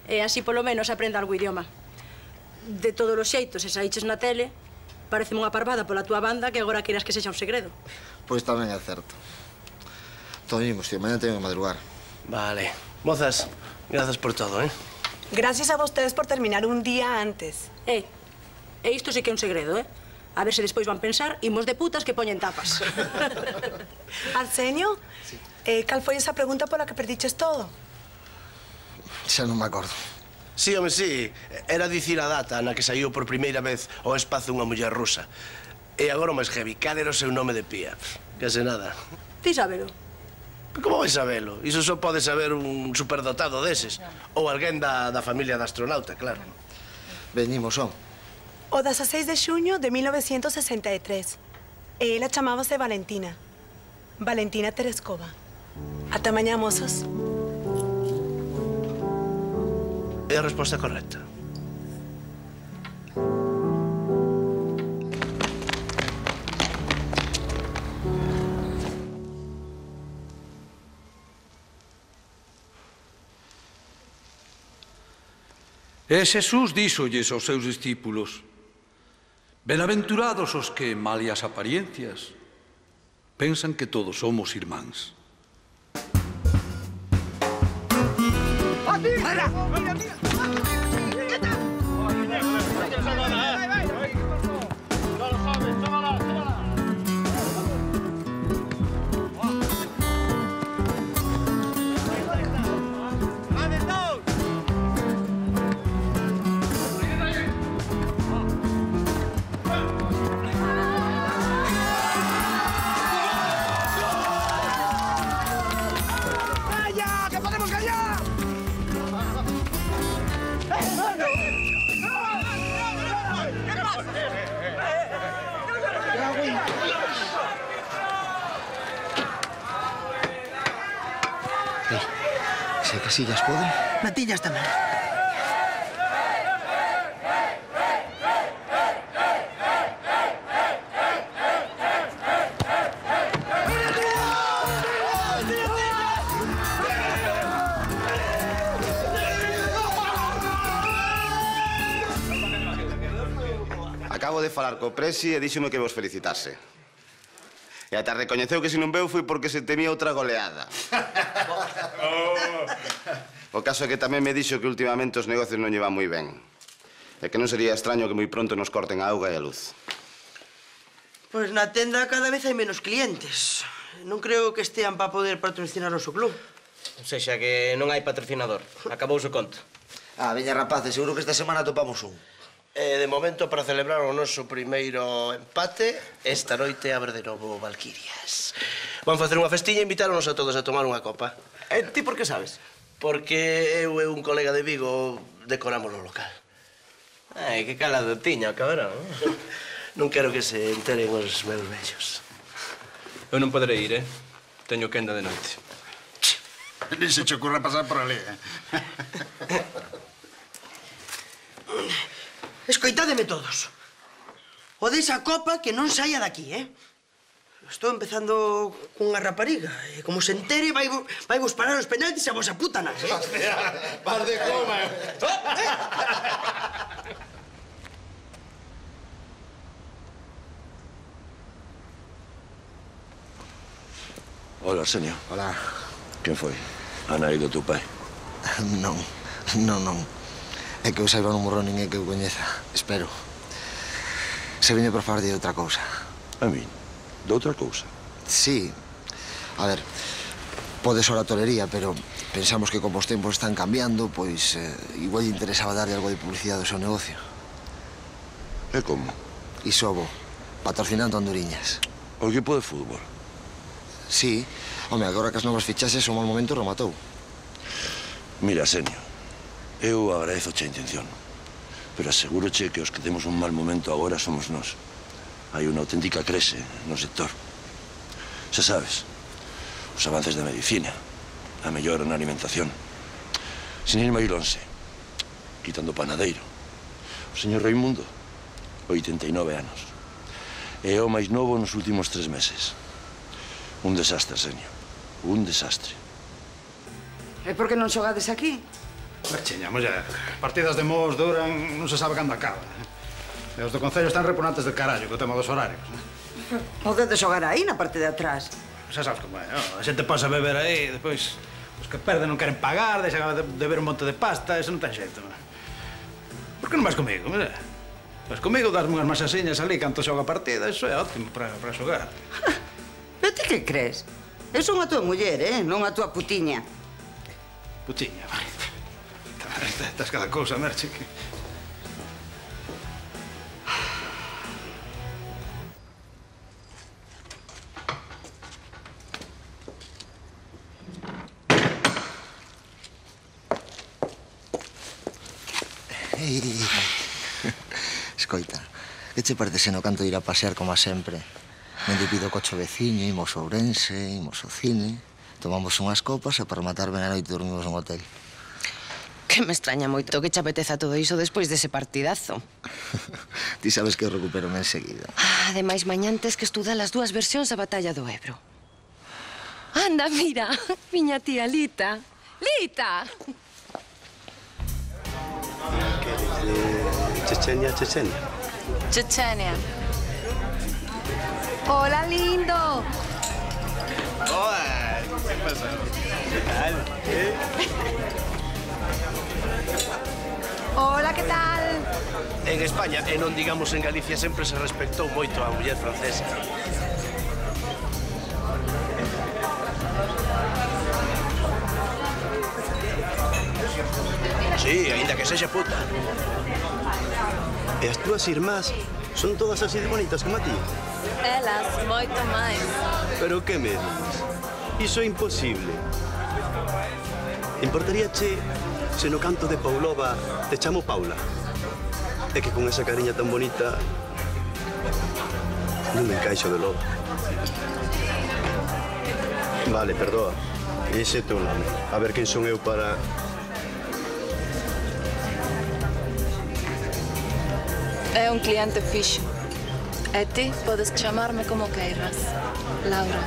E así, polo menos, aprende algo idioma. De todos os xeitos, se saíches na tele, pareceme unha parvada pola túa banda que agora queiras que sexa un segredo. Pois tamén é certo. Toñimos, tío, mañá teño que madrugar. Vale. Mozas, grazas por todo, Gracias a vostedes por terminar un día antes. E isto sí que é un segredo, A ver se despois van pensar, imos de putas que poñen tapas. Arsenio, cal foi esa pregunta pola que perdiches todo? Xa non me acordo. Sí, home, sí. Era dicir a data na que saiu por primeira vez ao espazo unha muller rusa. E agora o máis heavy, cal era o seu nome de pía? Case nada. Ti sábelo? Como vais sabelo? Iso só pode saber un superdotado deses. Ou alguén da familia da astronauta, claro. Veñimos, son. O 16 de xuño de 1963. E ela chamábase Valentina. Valentina Tereskova. Ata mañá, mozos. É a resposta correcta. E Xesús díxolles aos seus discípulos: Benaventurados os que, malia as apariencias, pensan que todos somos irmáns. ¡Mira! ¡Mira, mira! Se Casillas pode? Matillas tamén. Acabo de falar co Presi e díxome que vos felicitase. E ata recoñeceu que se non veu foi porque se temía outra goleada. O caso é que tamén me dixo que últimamente os negocios non llevan moi ben. E que non sería extraño que moi pronto nos corten a auga e a luz. Pois na tenda cada vez hai menos clientes. Non creo que estean para poder patrocinar o seu club. Ou sexa, que non hai patrocinador. Acabouse o conto. Veña, rapaces, seguro que esta semana topamos un. De momento, para celebrar o noso primeiro empate, esta noite abre de novo Valquirias. Van facer unha festiña e invitáronos a todos a tomar unha copa. Ti por que sabes? Porque eu e un colega de Vigo decoramos o local. Ai, que calado tiña, cabrón. Non quero que se enteren os meus vellos. Eu non poderei ir, Teño quenda de noite. Ni se che ocurra pasar por ali, Escoitádeme todos. O desa copa que non saia daqui, Estou empezando cunha rapariga e como se entere vai vos parar os penaltis a vosa puta nai, Hostia, par de coma. Hola, Arsenio. Hola. Quen foi? A nai do teu pai? Non. É que eu saiba non morro ninguén que eu coñeza. Espero. Se viñe por falar de outra cousa. A min? De outra cousa? Sí. A ver, pode ser a tolería, pero pensamos que como os tempos están cambiando, pois igual lle interesaba darlle algo de publicidade ao seu negocio. E como? Isobo, patrocinando Anduriñas. O equipo de fútbol? Sí. Home, agora que as novas fichaxes o mal momento rematou. Mira, Arsenio, eu agradezoche a intención, pero asegúroche que os que temos un mal momento agora somos nós. Hai unha auténtica crese no sector. Xa sabes, os avances da medicina, a mellora na alimentación. Sin ir máis lonxe, quitando o panadeiro, o señor Raimundo, 89 anos. É o máis novo nos últimos 3 meses. Un desastre, Arsenio. Un desastre. E por que non xogades aquí? Cheña, muller, partidas de mos duran, non se sabe cando acaban. E os do Concello están repugnantes del carallo co tema dos horarios. Podedes xogar aí, na parte de atrás. Xa sabes como é, a xente pasa a beber aí, despois os que perden non queren pagar, deixan de beber un monte de pasta, eso non ten xeito. Por que non vas comigo, muller? Vas comigo, dasme unhas masaxiñas ali canto xoga a partida, iso é ótimo para xogar. Pero ti que crees? Eu son a tua muller, non a tua putiña. Putiña, vai. Estás cada cousa, Merche. Escoita, que che parece no canto de ir a pasear como a sempre? Non te pido coche veciño, imos a Ourense, imos ao cine, tomamos unhas copas e para rematar ben a noite dormimos nun hotel. Que me extraña moito que che apeteza todo iso despois dese partidazo. Ti sabes que eu recupero enseguida. Ademais, mañán tes que estudar as 2 versións da batalla do Ebro. Anda, mira, miña tía Lita. Lita! Chechenia. Chechenia. Hola, lindo. ¿Qué pasa? ¿Qué tal? Hola, que tal? En España, e non digamos en Galicia, sempre se respectou moito a muller francesa. Sí, aínda que sexa puta. E as túas irmás son todas así de bonitas como a ti? Elas, moito máis. Pero que me dices? Iso é imposible. Importaríache se no canto de Paulova te chamo Paula? É que con esa cariña tan bonita Non me encaixo de lodo. Vale, perdoa. Ese é teu nome. A ver quen son eu para... É un cliente fixo. E ti podes chamarme como queiras. Laura.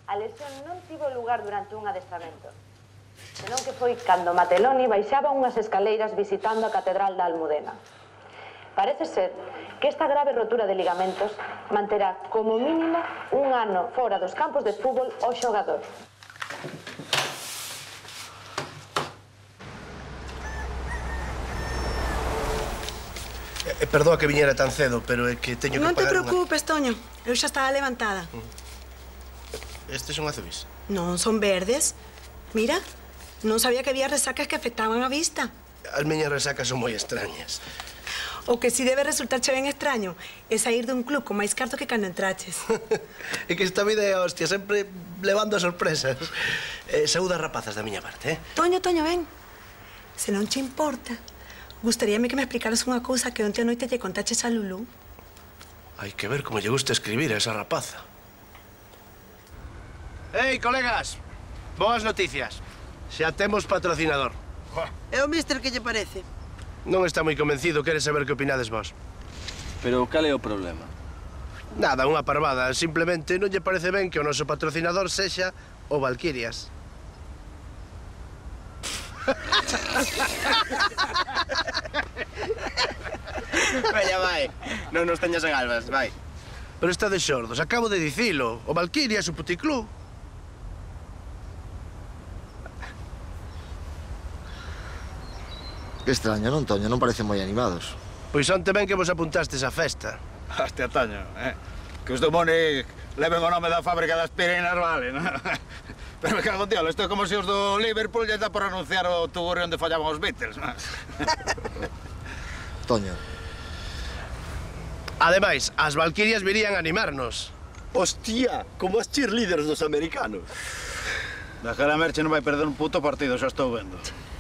A lesión non tivo lugar durante un adestramento, senón que foi cando Mateloni baixaba unhas escaleiras visitando a Catedral da Almudena. Parece ser que esta grave rotura de ligamentos manterá como mínimo un ano fora dos campos de fútbol ao xogador. Perdoa que viñera tan cedo, pero é que teño que Non te pagar preocupes, Toño. Eu xa estaba levantada. Estes son azuis. Non, son verdes. Mira, non sabía que había resacas que afectaban a vista. As miñas resacas son moi extrañas. O que si debe resultarche ben extraño é sair dun club con máis carto que cando entraches. É que esta vida é hostia, sempre levando a sorpresas. Saúda as rapazas da miña parte, Toño, ven. Se non che importa, gustaríame que me explicaras unha cousa que onte a noite lle contaches a Lulú. Hai que ver como lle gusta escribir a esa rapaza. Ei, colegas, boas noticias. Xa temos patrocinador. É o mister que lle parece? Non está moi convencido, quere saber que opinades vos. Pero cal é o problema? Nada, unha parvada. Simplemente non lle parece ben que o noso patrocinador sexa o Valquirias. Veña, vai. Non nos teñas en albas, vai. Pero está de xordos, acabo de dicilo. O Valquirias, o puticlub. Que extraño, non, Toño? Non parecen moi animados. Pois onte ben que vos apuntastes á festa. Hostia, Toño, que os do Mónic leven o nome da fábrica das aspirinas, vale, non? Pero me cago en diablo, isto é como se os do Liverpool lle dá por anunciar o tugurio onde fallaban os Beatles, non? Toño. Ademais, as Valquirias virían a animarnos. Hostia, como as cheerleaders dos americanos. Daquela merche non vai perder un puto partido, xa estou vendo.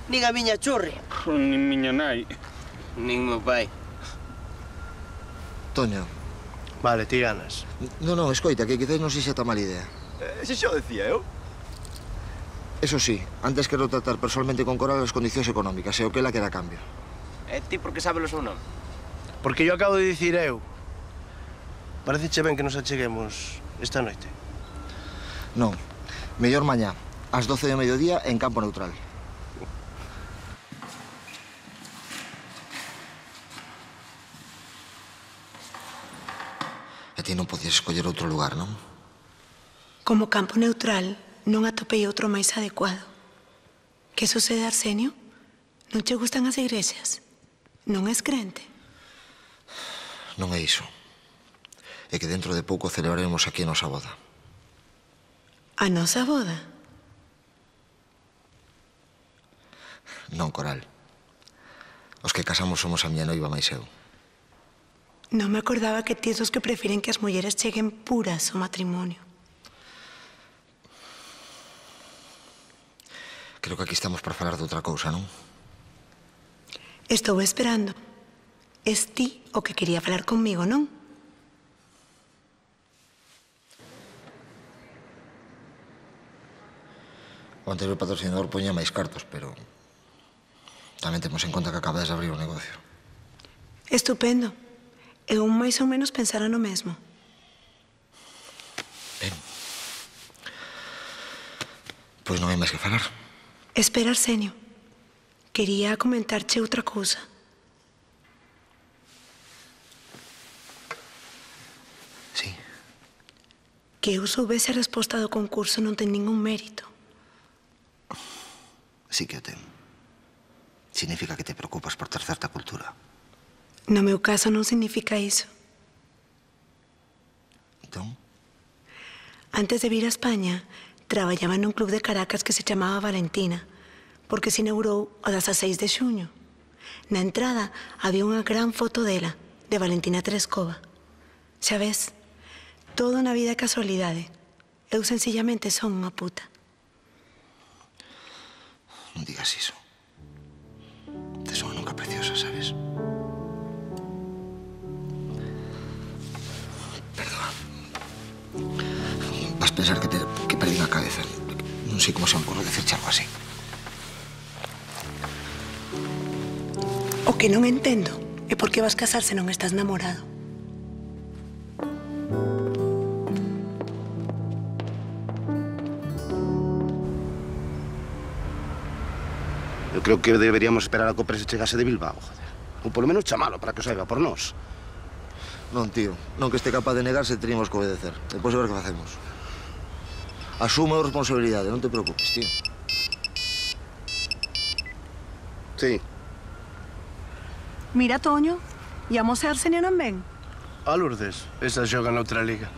Nin a miña churri. Nin miña nai. Nin meu pai. Toño. Vale, ti ganas. Non, escoita, que quizás non sexa tan mala idea. Ese xa o decía eu. Eso sí, antes quero tratar personalmente con Coral as condicións económicas e o que ela quera a cambio. E ti por que sabes o seu nome? Porque yo acabo de dicir eu. Pareceche ben que nos acheguemos esta noite? Non, mellor mañá, ás 12 do mediodía en campo neutral. E ti non podías escoller outro lugar, non? Como campo neutral, non atopei outro máis adecuado. Que sucede, Arsenio? Non che gustan as igrexas? Non és crente? Non é iso. É que dentro de pouco celebraremos aquí a nosa boda. A nosa boda? Non, Coral. Os que casamos somos a miña noiva máis eu. Non me acordaba que ti os que prefiren que as mulleres cheguen puras ao matrimonio. Creo que aquí estamos para falar de outra cousa, non? Estou esperando. Es ti o que quería falar conmigo, non? O anterior patrocinador poñía máis cartos, pero tamén temos en conta que acabades de abrir o negocio. Estupendo. Eu máis ou menos pensara no mesmo. Ben. Pois non hai máis que falar. Espera, Arsenio. Quería comentarche outra cousa. Sí. Que eu soubese a resposta do concurso non ten ningún mérito. Sí que o ten. Significa que te preocupas por ter certa cultura. No meu caso non significa iso. Entón? Antes de vir a España, traballaba nun club de Caracas que se chamaba Valentina, porque se inaugurou o 16 de xuño. Na entrada había unha gran foto dela, de Valentina Tereskova. Xa ves, todo na vida é casualidade. Eu sencillamente son unha puta. Non digas iso. sabes? Perdona. Vas pensar que perdí a cabeza. Non sei como se me ocurre decirche algo así. O que non entendo é por que vas casar se non estás namorado. Eu creo que deberíamos esperar a que o Presi chegase de Bilbao, joder. Ou polo menos chamalo para que o saiba por nós. Non, tío. Non que este capaz de negarse, teríamos que obedecer. Depois de ver que facemos. Asume a responsabilidade, non te preocupes, tío. Sí. Mira, Toño, e a Mose Arsenio non ven? A Lourdes, esa xoga noutra liga.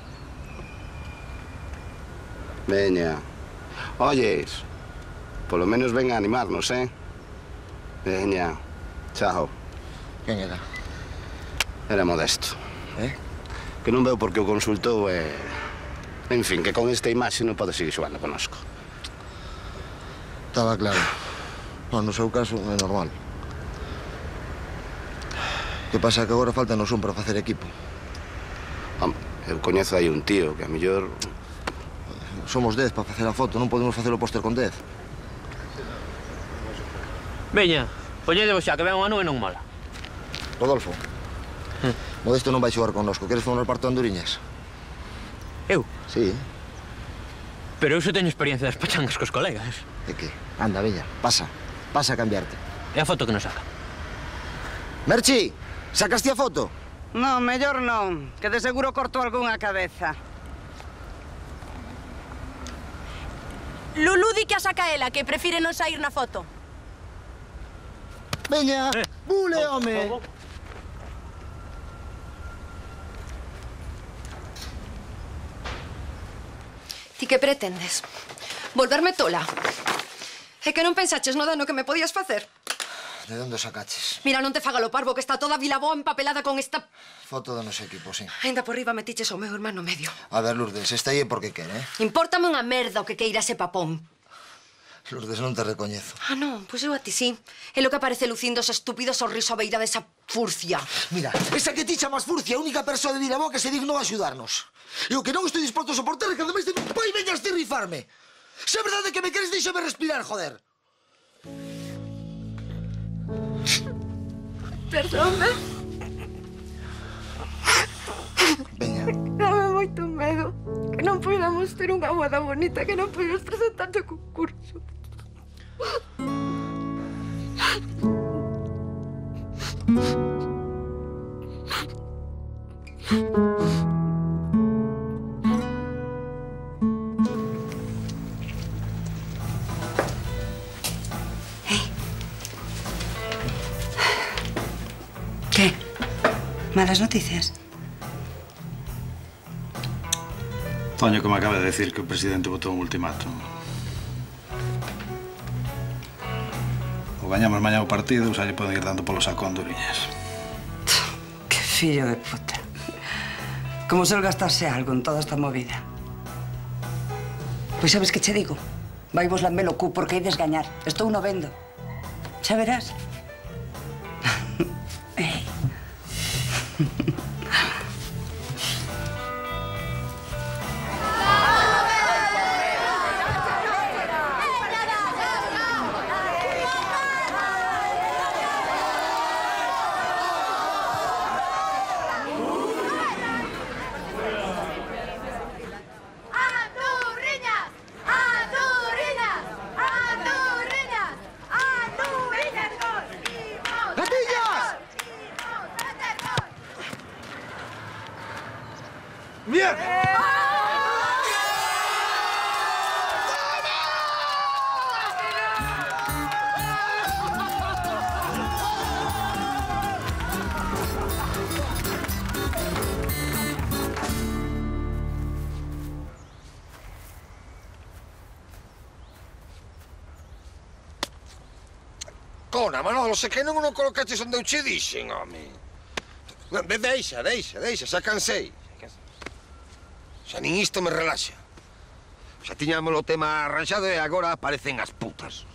Veña. Oyes, polo menos ven a animarnos, eh? Veña. Chao. Quen era? Era Modesto. Que non veo por que o consultou e... En fin, que con esta imaxe non pode seguir xogando conosco. Estaba claro. No seu caso, é normal. Que pasa que agora faltanos un para facer equipo. Eu coñezo aí un tío que a mellor... Somos 10 para facer a foto, non podemos facer o póster con 10. Veña, poñedevos xa, que ven unha nube non mola. Rodolfo, Modesto non vai xogar connosco. Queres formar parte de Anduriñas? Eu? Sí. Pero eu só teño experiencia das pachangas cos colegas. De que? Anda, veña, pasa. Pasa a cambiarte. É a foto que nos saca. Merchi, sacaste a foto? Non, mellor non, que de seguro corto algunha cabeza. Lulú di que a saca ela, que prefire non sair na foto. Veña, bule, home. Ti que pretendes? Volverme tola? É que non pensaches no dano que me podías facer? De onde sacaches? Mira, non te faga lo parvo, que está toda Vilaboa empapelada con esta... Foto do noso equipo, sí. Ainda por riba metiches ao meu hermano medio. A ver, Lourdes, esta aí é porque quere, eh? Impórtame unha merda o que queira ese papón. Lourdes, non te recoñezo. Ah, non, pois eu a ti sí. É lo que aparece lucindo ese estúpido sorriso a beira desa furcia. Mira, esa que ti chamas furcia, a única persoa de Vilaboa que se dignou a axudarnos. E o que non estou disposto a soportar é que ademais de pai veñas ti rifarme. Se é verdade que me queres, deixame respirar, joder. Perdónme. Veña. Dame moito medo. Que non podamos ter unha boda bonita, que non podamos presentar o concurso. ¿Qué? ¿Malas noticias? Toño que me acaba de decir que o presidente botou un ultimátum. O gañamos mañá o partido, xa lle poden ir dando polo saco a Anduriñas. Qué fillo de puta. Como se gastarse algo en toda esta movida. Pois sabes que che digo? Vai vos lambelo cu porque ides gañar. Estou no vendo. Xa verás. Cona, Manolo, se que non colocaches onde eu che dixen, home. Deixa, xa cansei. Xa nin isto me relaxa. Xa tiñamos o tema arranxado e agora aparecen as putas.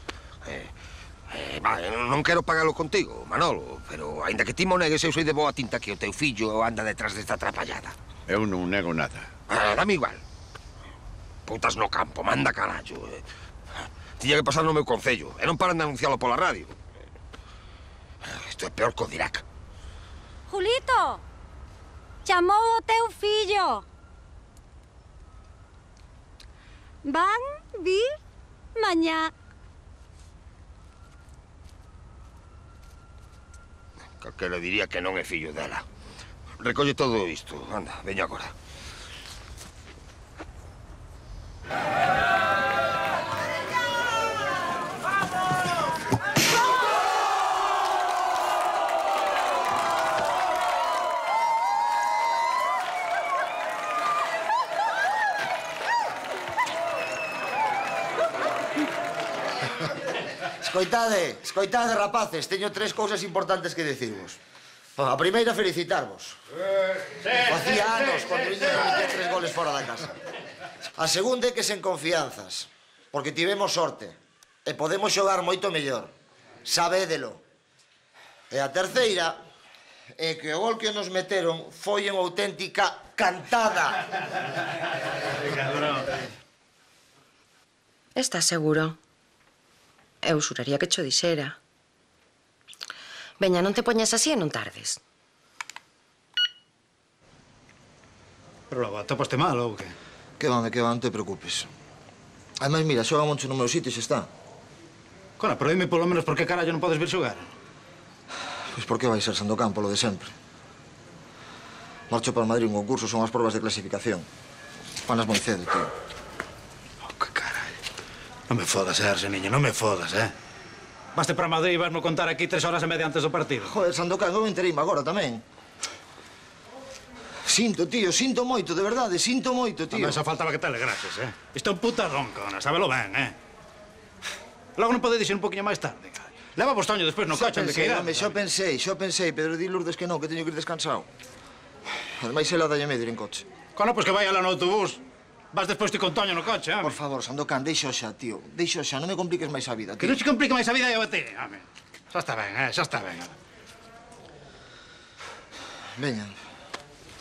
Non quero pagalo contigo, Manolo, pero aínda que ti mo negues, eu sei de boa tinta que o teu fillo anda detrás desta atrapallada. Eu non nego nada. Dame igual. Putas no campo, manda carallo. Tiña que pasar no meu concello, e non paran de anuncialo pola radio. Isto é peor que o Dirac. Julito! Chamou o teu fillo. Van vir mañá. Calquera diría que non é fillo dela. Recolle todo isto. Anda, veña agora. Escoitade, rapaces, teño 3 cousas importantes que dicirvos. A primeira, felicitarvos. Facía anos cando viña de meter 3 goles fora da casa. A segunda é que sen confianzas, porque tivemos sorte e podemos xogar moito mellor. Sabédelo. E a terceira é que o gol que nos meteron foi unha auténtica cantada. Estás seguro? Eu xuraría que cho dixera. Veña, non te poñas así e non tardes. Pero logo, topaste mal ou que? Que va, non te preocupes. Ademais, mira, xoga moncho no meu sitio e xa está. Cona, pero dime polo menos por que carallo non podes vir xogar. Pois por que vai ser Sandokan, polo de sempre. Marcho para Madrid un concurso, son as probas de clasificación. Panas moi cedo, tío. Non me fodas, Arseniño, non me fodas, Vaste para Madrid e vasmo contar aquí 3 horas e media antes do partido. Joder, Sandokan, eu enterime agora tamén. Sinto, tío, sinto moito, de verdade, sinto moito, tío. Tamén xa faltaba que te alegrases, Isto é un putadón, cona, sábelo ben, Logo non podedes ir un poquinho máis tarde, cara. Leva vos toño despois no coche, onde que irá. Xo pensei, Pedro, di Lourdes que non, que teño que ir descansado. Ademais, ela dalle medo ir en coche. Cona, pois que vai ala no autobús. Vas despois ti con Toño no coche, Por favor, Sandokan, deixo xa, tío. Deixo xa, non me compliques máis a vida, tío. Que non se complique máis a vida e a ti, home. Xa está ben, xa está ben. Veña,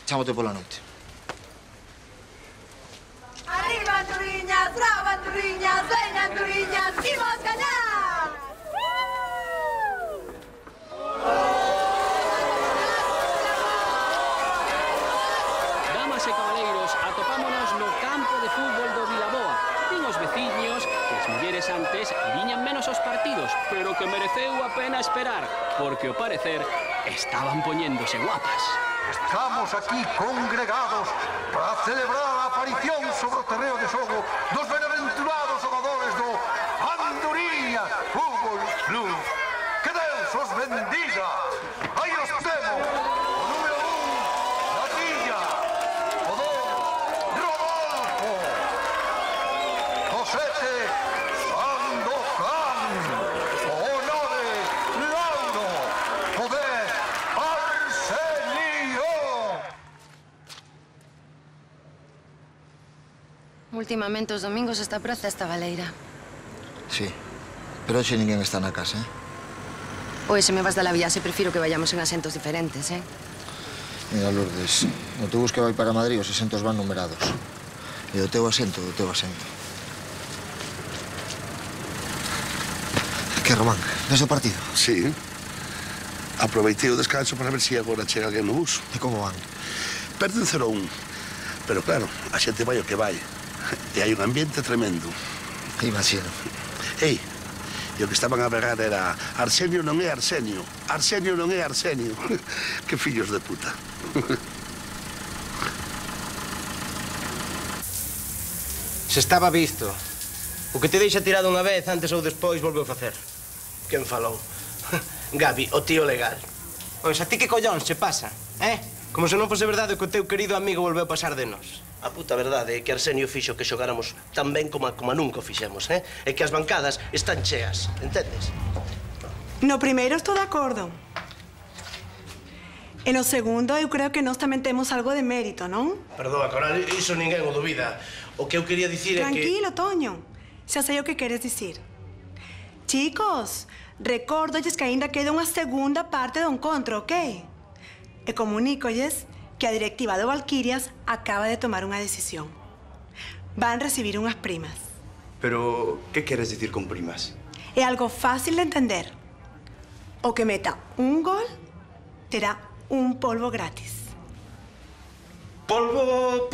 chámote pola noite. Arriba Anturiñas, bravo Anturiñas, veña Anturiñas, imos gañar! Damas e cabaleiros, atopámonos no campo de fútbol do Vilaboa. Din os veciños que as mulleres antes viñan menos aos partidos, pero que mereceu a pena esperar, porque ao parecer estaban poñéndose guapas. Estamos aquí congregados para celebrar a aparición sobre o terreo de xogo dos benaventurados xogadores do Anturiñas Fútbol Club. Que Deus os bendiga. Aí os temos. O número 1, Gatilla. O 2, Rodolfo. O 7, Sandokan. O 9, Lauro. O 10, Arsenio. Últimamente os domingos esta praza está baleira. Sí, pero hoxe ninguén está na casa, Oe, se me vas da la viaxe, prefiro que vayamos en asentos diferentes, Mira, Lourdes, no autobús que vai para Madrid os asentos van numerados. E o teu asento, o teu asento. Que, Román, ves o partido? Sí. Aproveitei o descanso para ver se agora chega alguén no bus. E como van? Perden 0-1. Pero claro, a xente vai o que vai. E hai un ambiente tremendo. Imagino. Ei, e o que estaban a berrar era Arsenio non é Arsenio, Arsenio non é Arsenio. Que fillos de puta. Se estaba visto. O que te deixa tirado unha vez, antes ou despois, volveu a facer. Quen falou? Gabi, o tío legal. Pois a ti que collóns che pasa, Como se non fose verdade que o teu querido amigo volveu a pasar de nós. A puta verdade é que Arsenio fixo que xogáramos tan ben como nunca o fixemos, E que as bancadas están cheas, entendes? No primeiro estou de acordo. E no segundo, eu creo que nós tamén temos algo de mérito, non? Perdoa, Coral, iso ninguén o dubida. O que eu quería dicir é que... Tranquilo, Toño. Xa sei o que queres dicir. Chicos, recórdolles que ainda queda unha segunda parte do encontro, ok? E comunícolles que a directiva do Valquirias acaba de tomar unha decisión. Van recibir unhas primas. Pero, que queres dicir con primas? É algo fácil de entender. O que meta un gol terá un polvo gratis. Polvo.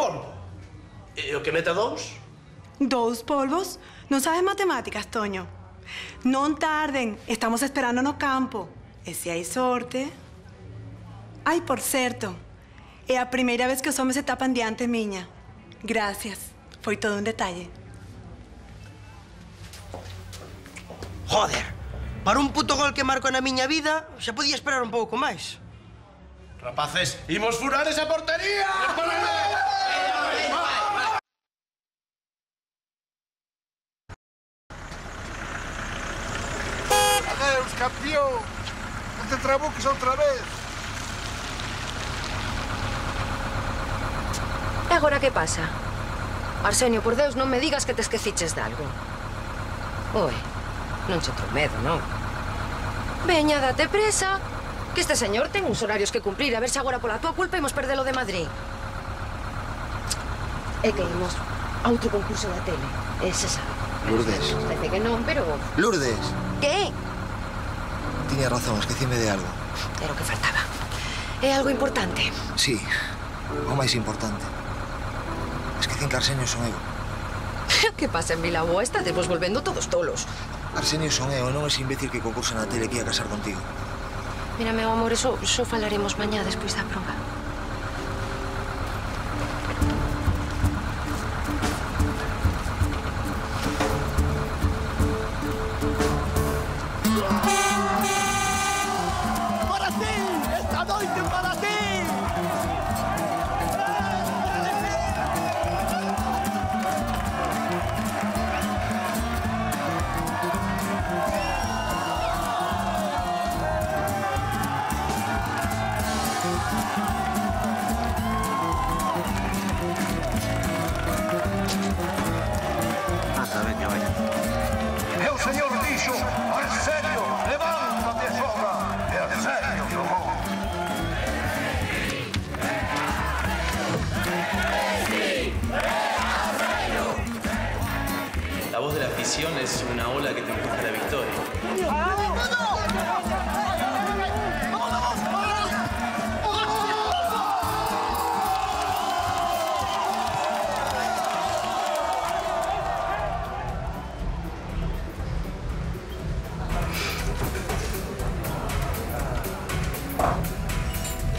E o que meta 2? 2 polvos? Non sabes matemáticas, Toño. Non tarden, estamos esperando no campo. E se hai sorte... Ai, por certo, é a primeira vez que os homes se tapan diante, miña. Gracias, foi todo un detalle. Joder, para un puto gol que marco na miña vida, xa podía esperar un pouco máis. Rapaces, imos furar esa portería! Adeus, campeón. Non te trabuques outra vez. E agora que pasa? Arsenio, por Deus, non me digas que te esqueciches de algo. Oi, non che tromedo, non? Veña, date presa, que este señor ten uns horarios que cumplir. A ver se agora pola tua culpa imos perdelo de Madrid. É que imos a outro concurso da tele, ese sabe. Lourdes. Parece que non, pero... Lourdes. Que? Tiña razón, esquecime de algo. Era o que faltaba. É algo importante. Sí, o máis importante. Esquecín que Arsenio son eu. Que pasa en Vilaboa? Estades vos volvendo todos tolos. Arsenio son eu, non ese imbécil que concursa na tele que ia casar contigo. Mira, meu amor, eso falaremos mañá despois da proba. Para ti, esta noite para ti. E o señor dixo, Arsenio, levántate, sobra. E Arsenio xogou. La voz de la afición es una ola que te empuja a la victoria.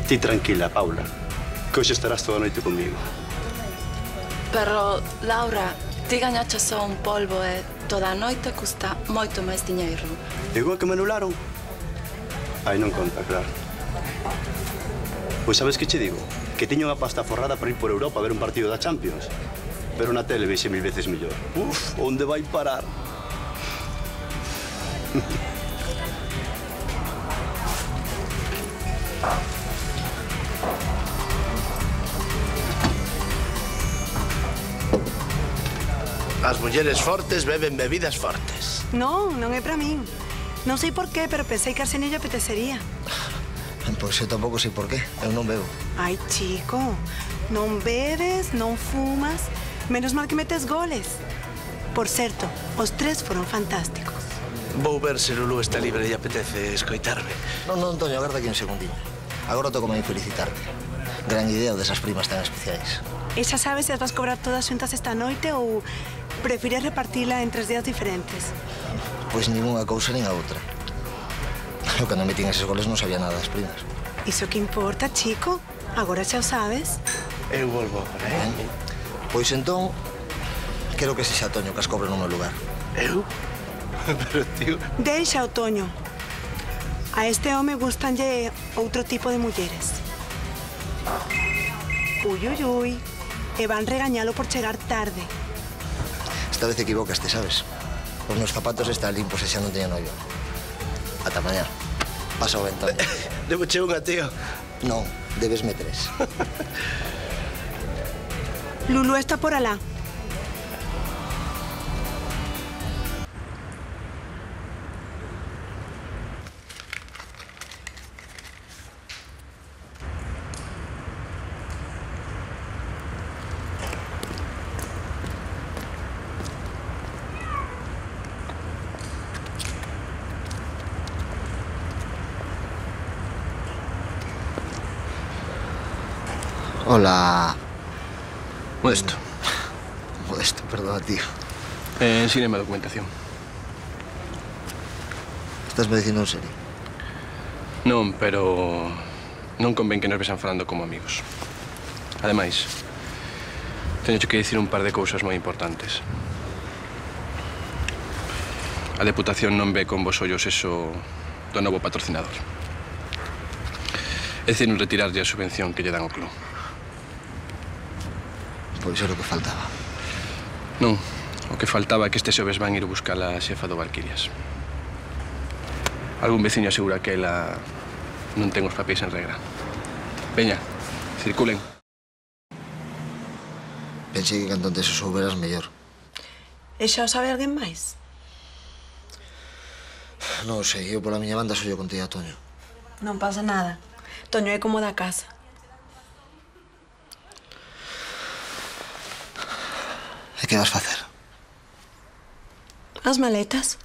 Ti tranquila, Paula, que hoxe estarás toda a noite comigo. Pero, Laura, ti gañaches só un polvo e toda a noite custa moito máis diñeiro. Igual que me anularon? Aí non conta, claro. Pois sabes que che digo? Que tiño unha pasta forrada para ir por Europa a ver un partido da Champions. Pero na tele vexe 1000 veces mellor. Uf, onde vai parar? As mulleres fortes beben bebidas fortes. Non, non é para min. Non sei por qué, pero pensei que a Arsenio lle apetecería. Pois eu tampouco sei por qué. Eu non bebo. Ai, chico, non bebes, non fumas, menos mal que metes goles. Por certo, os 3 foron fantásticos. Vou ver se Lulú está libre e apetece escoitarme. Non, Antonio, agarda aquí un segundinho. Agora toco máis felicitarte. Gran idea o desas primas tan especiais. E xa sabes se as vas cobrar todas xuntas esta noite ou prefires repartila en 3 días diferentes? Pois nin unha cousa nin a outra. Eu cando metín eses goles non sabía nada das primas. Iso que importa, chico? Agora xa o sabes. Eu volvo agora, Pois entón, quero que sexa Toño que as cobre no meu lugar. Eu? Pero, tío... Deixa, Otoño. A este home gustanlle outro tipo de mulleres. Ui, ui, ui. E van regañalo por chegar tarde. Esta vez equivocaste, sabes? Os meus zapatos están limpos e xa non teño novio. Ata mañá. Pasa o ventón. Debo che unha, tío. Non, debesme 3. Lulú está por alá. Hola. Modesto. Modesto, perdona, tío. Ensíname a documentación. Estás me dicindo en serio? Non, pero non convén que nos vexan falando como amigos. Ademais, teño que dicir un par de cousas moi importantes. A Deputación non ve con vos ollos eso do novo patrocinador. É dicir, non retirarlle a subvención que lle dan ao club. Pois é o que faltaba. Non, o que faltaba é que este xoves van ir buscar a xefa do Valquirias. Algún veciño asegura que ela non ten os papéis en regra. Veña, circulen. Pensei que canto antes o souberas mellor. E xa o sabe alguén máis? Non sei, eu pola miña banda só yo contei a Toño. Non pasa nada. Toño é como da casa. E que vas facer? As maletas.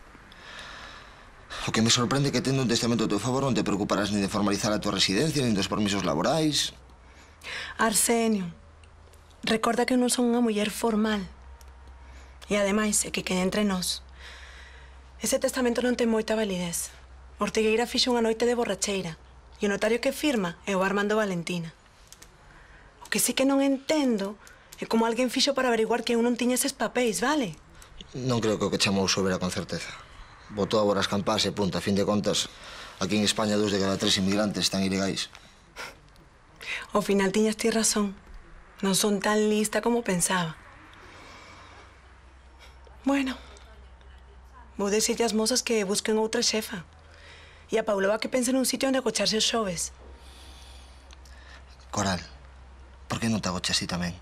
O que me sorprende é que tendo un testamento a teu favor non te preocuparás nin de formalizar a tua residencia, nin dos permisos laborais. Arsenio, recorda que eu non son unha muller formal. E ademais, é que quede entre nós. Ese testamento non ten moita validez. Ortigueira fixo unha noite de borracheira. E o notario que firma é o Armando Valentina. O que sí que non entendo é como alguén fixo para averiguar que eu non tiña eses papéis, vale? Non creo que o que chamou Sobera con certeza. Botou agora as campás e punta. A fin de contas, aquí en España 2 de cada 3 inmigrantes están ilegais. Ao final tiñas ti razón. Non son tan lista como pensaba. Bueno, vou dicirlle ás mozas que busquen outra xefa. E a Paulova que pense nun sitio onde acocharse os xoves. Coral, por que non te agochas ti tamén?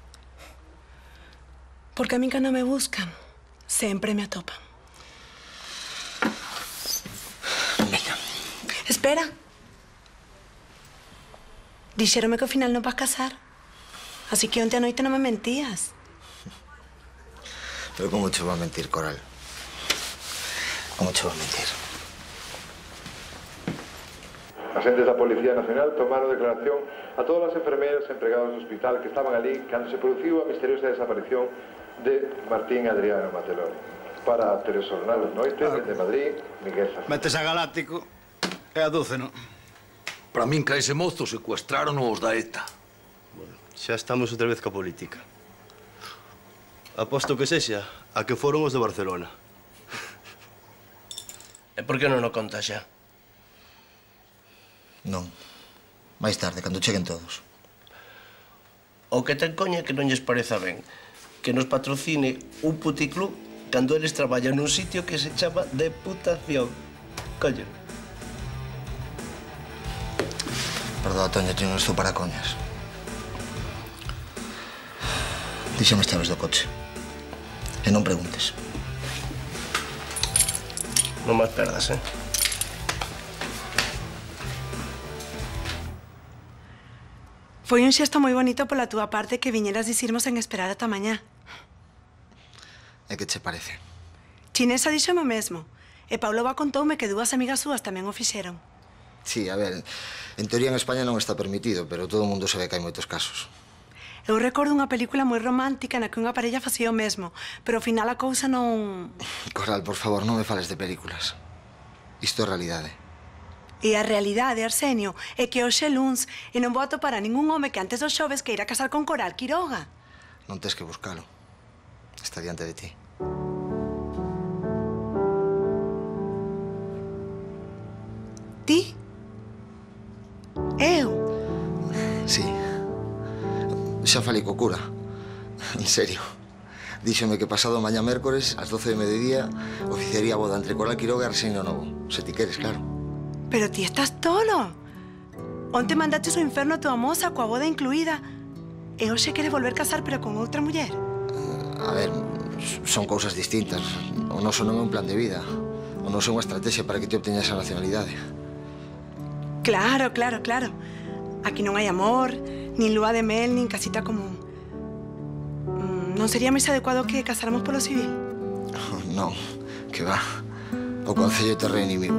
Porque a min cando me buscan, sempre me atopan. Veña. Espera. Dixéronme que ao final non vas casar. Así que onte a noite non me mentías. Pero como che vou a mentir, Coral? Como che vou a mentir? Agentes da Policía Nacional tomaron declaración a todas as enfermeiras e empregados do hospital que estaban ali cando se produciu a misteriosa desaparición de Martín Adriano Mateloni. Para a Telexornal das Noites, desde Madrid, Miguel Sastre. Metes a Galáctico e a Dúceno. Para min que a ese mozo secuestraron os da ETA. Bueno, xa estamos outra vez ca política. Aposto que sexa a que foron os de Barcelona. E por que non o conta xa? Non. Mais tarde, cando cheguen todos. O que ten coña que non lles pareza ben que nos patrocine un puticlub cando eles traballan nun sitio que se chama Deputación. Coño. Perdón, Toño, eu non estou para coñas. Díxame as chaves do coche. E non preguntes. Non máis perdas, Foi un xesto moi bonito pola túa parte que viñeras dicirmos en esperar ata mañá. E que che parece? Chinesa díxome o mesmo. E Paulova contoume que dúas amigas súas tamén o fixeron. Sí, a ver, en teoría en España non está permitido, pero todo o mundo sabe que hai moitos casos. Eu recordo unha película moi romántica na que unha parella facía o mesmo, pero ao final a cousa non... Coral, por favor, non me fales de películas. Isto é realidade. E a realidade, Arsenio, é que hoxe é luns e non vou atopar a ningún home que antes dos xoves que irá casar con Coral Quiroga. Non tes que buscalo. Está diante de ti. Ti? Eu? Sí. Xa falei co cura. En serio. Díxome que pasado mañá mércores, ás 12 de mediodía, oficiaría a boda entre Coral Quiroga e Arsenio Novo. Se ti queres, claro. Pero ti estás tolo. Onte mandaches o inferno a tua moza coa boda incluída. E hoxe quere volver casar, pero con outra muller. A ver, son cousas distintas. O noso non é un plan de vida. O noso é unha estrategia para que te obteñas a nacionalidade. Claro, claro, claro. Aquí non hai amor, nin lúa de mel, nin casita común. Non sería máis adecuado que casáramos polo civil? Non, que va. O Concello é terra inimigo.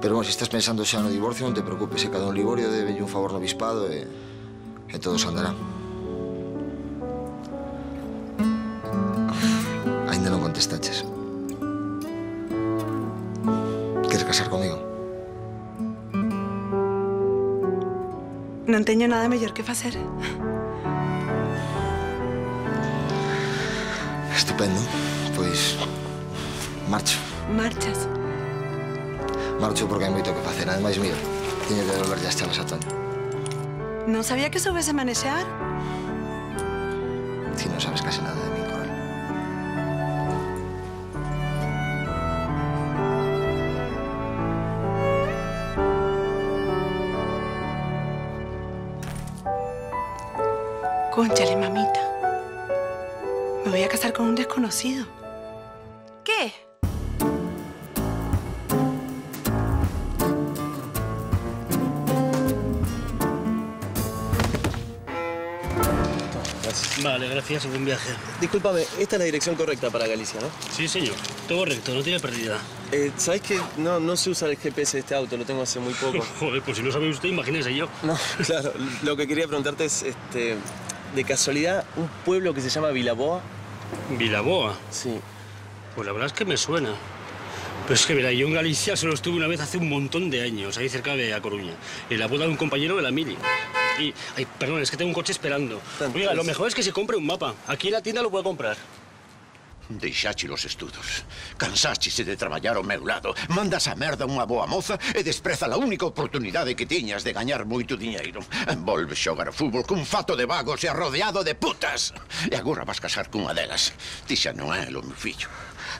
Pero, bueno, se estás pensando xa no divorcio, non te preocupes, que cada un liborio debe un favor no bispado e E todo se andará. Ainda non contestaches. Queres casar comigo? Non teño nada mellor que facer. Estupendo. Pois... marcho. Marchas. Marcho porque hai moito que facer. Ademais, mira, teño que devolverlle as chaves a Toño. Non sabía que soubese manexear. Ti non sabes case nada de mí, Coral. Cónchale, mamita. Me voy a casar con un desconocido. ¿Qué? Vale, gracias y buen viaje. Discúlpame, esta es la dirección correcta para Galicia, ¿no? Sí, señor. Todo recto, no tiene pérdida. ¿Sabes que no sé usar el GPS de este auto? Lo tengo hace muy poco. Joder, pues si no sabe usted, imagínese yo. No, claro. Lo que quería preguntarte es, de casualidad, un pueblo que se llama Vilaboa. ¿Vilaboa? Sí. Pues la verdad es que me suena. Pero es que, verá, yo en Galicia solo estuve una vez hace un montón de años, ahí cerca de A Coruña, en la boda de un compañero de la mili. Y, ay, perdón, es que tengo un coche esperando. Oiga, lo mejor es que se compre un mapa. Aquí en la tienda lo puede comprar. Deixache os estudos. Cansáchese de traballar ao meu lado. Mandas a merda unha boa moza e despreza a única oportunidade que tiñas de gañar moito diñeiro. Volves xogar ao fútbol cun fato de vagos e arrodeado de putas. E agora vas casar cunha delas. Ti xa non é o meu fillo.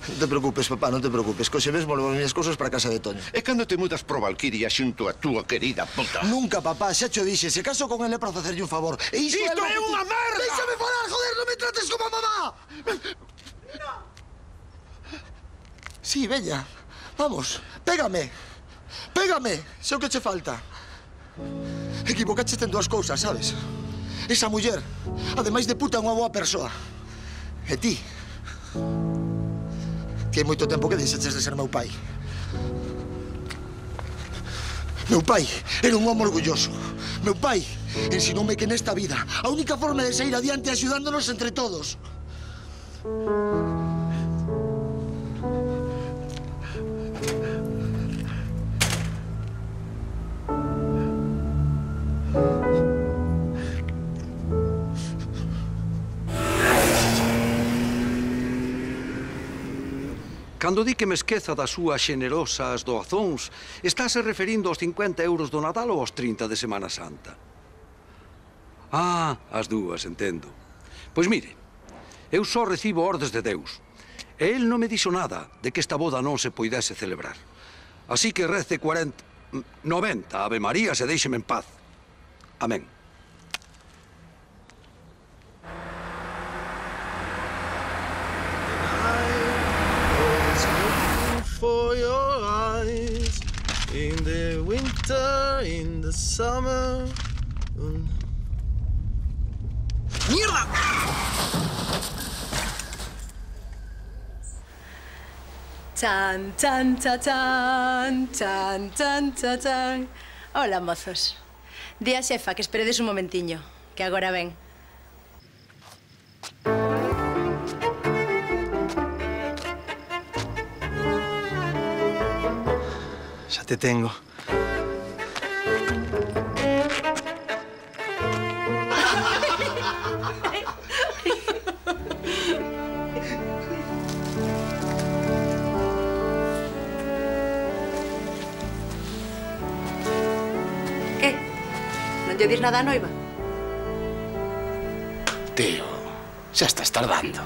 Non te preocupes, papá, non te preocupes. Coxe ves volvo as minhas cousas para casa de Toño. E cando te mudas pro Valquiria xunto a túa querida puta? Nunca, papá, xa cho dixe. Se caso con ele é para facerlle un favor. E isto é unha merda! Déxame falar, joder, non me trates como a mamá! Sí, veña, vamos, pégame, pégame, sei o que che falta. Equivocaches en dúas cousas, sabes? Esa muller, ademais de puta, é unha boa persoa. E ti, que hai moito tempo que deixaches de ser meu pai. Meu pai era un home orgulloso. Meu pai ensinoume que nesta vida a única forma de sair adiante é axudándonos entre todos. Cando di que me esqueza das súas xenerosas doazóns, estáse referindo aos 50 euros do Nadal ou aos 30 de Semana Santa? Ah, as dúas, entendo. Pois mire, eu só recibo ordes de Deus. E el non me dixo nada de que esta boda non se poidese celebrar. Así que rece 90 Ave Marías e déixeme en paz. Amén. For your eyes in the winter, in the summer. ¡Mierda! Chan, chan, cha, chan, chan, chan, cha, chan. Hola, mozos. Di a xefa que esperedes un momentiño, que agora ven. Ya te tengo. Que? Non lle dis nada a noiva? Tío, xa estás tardando.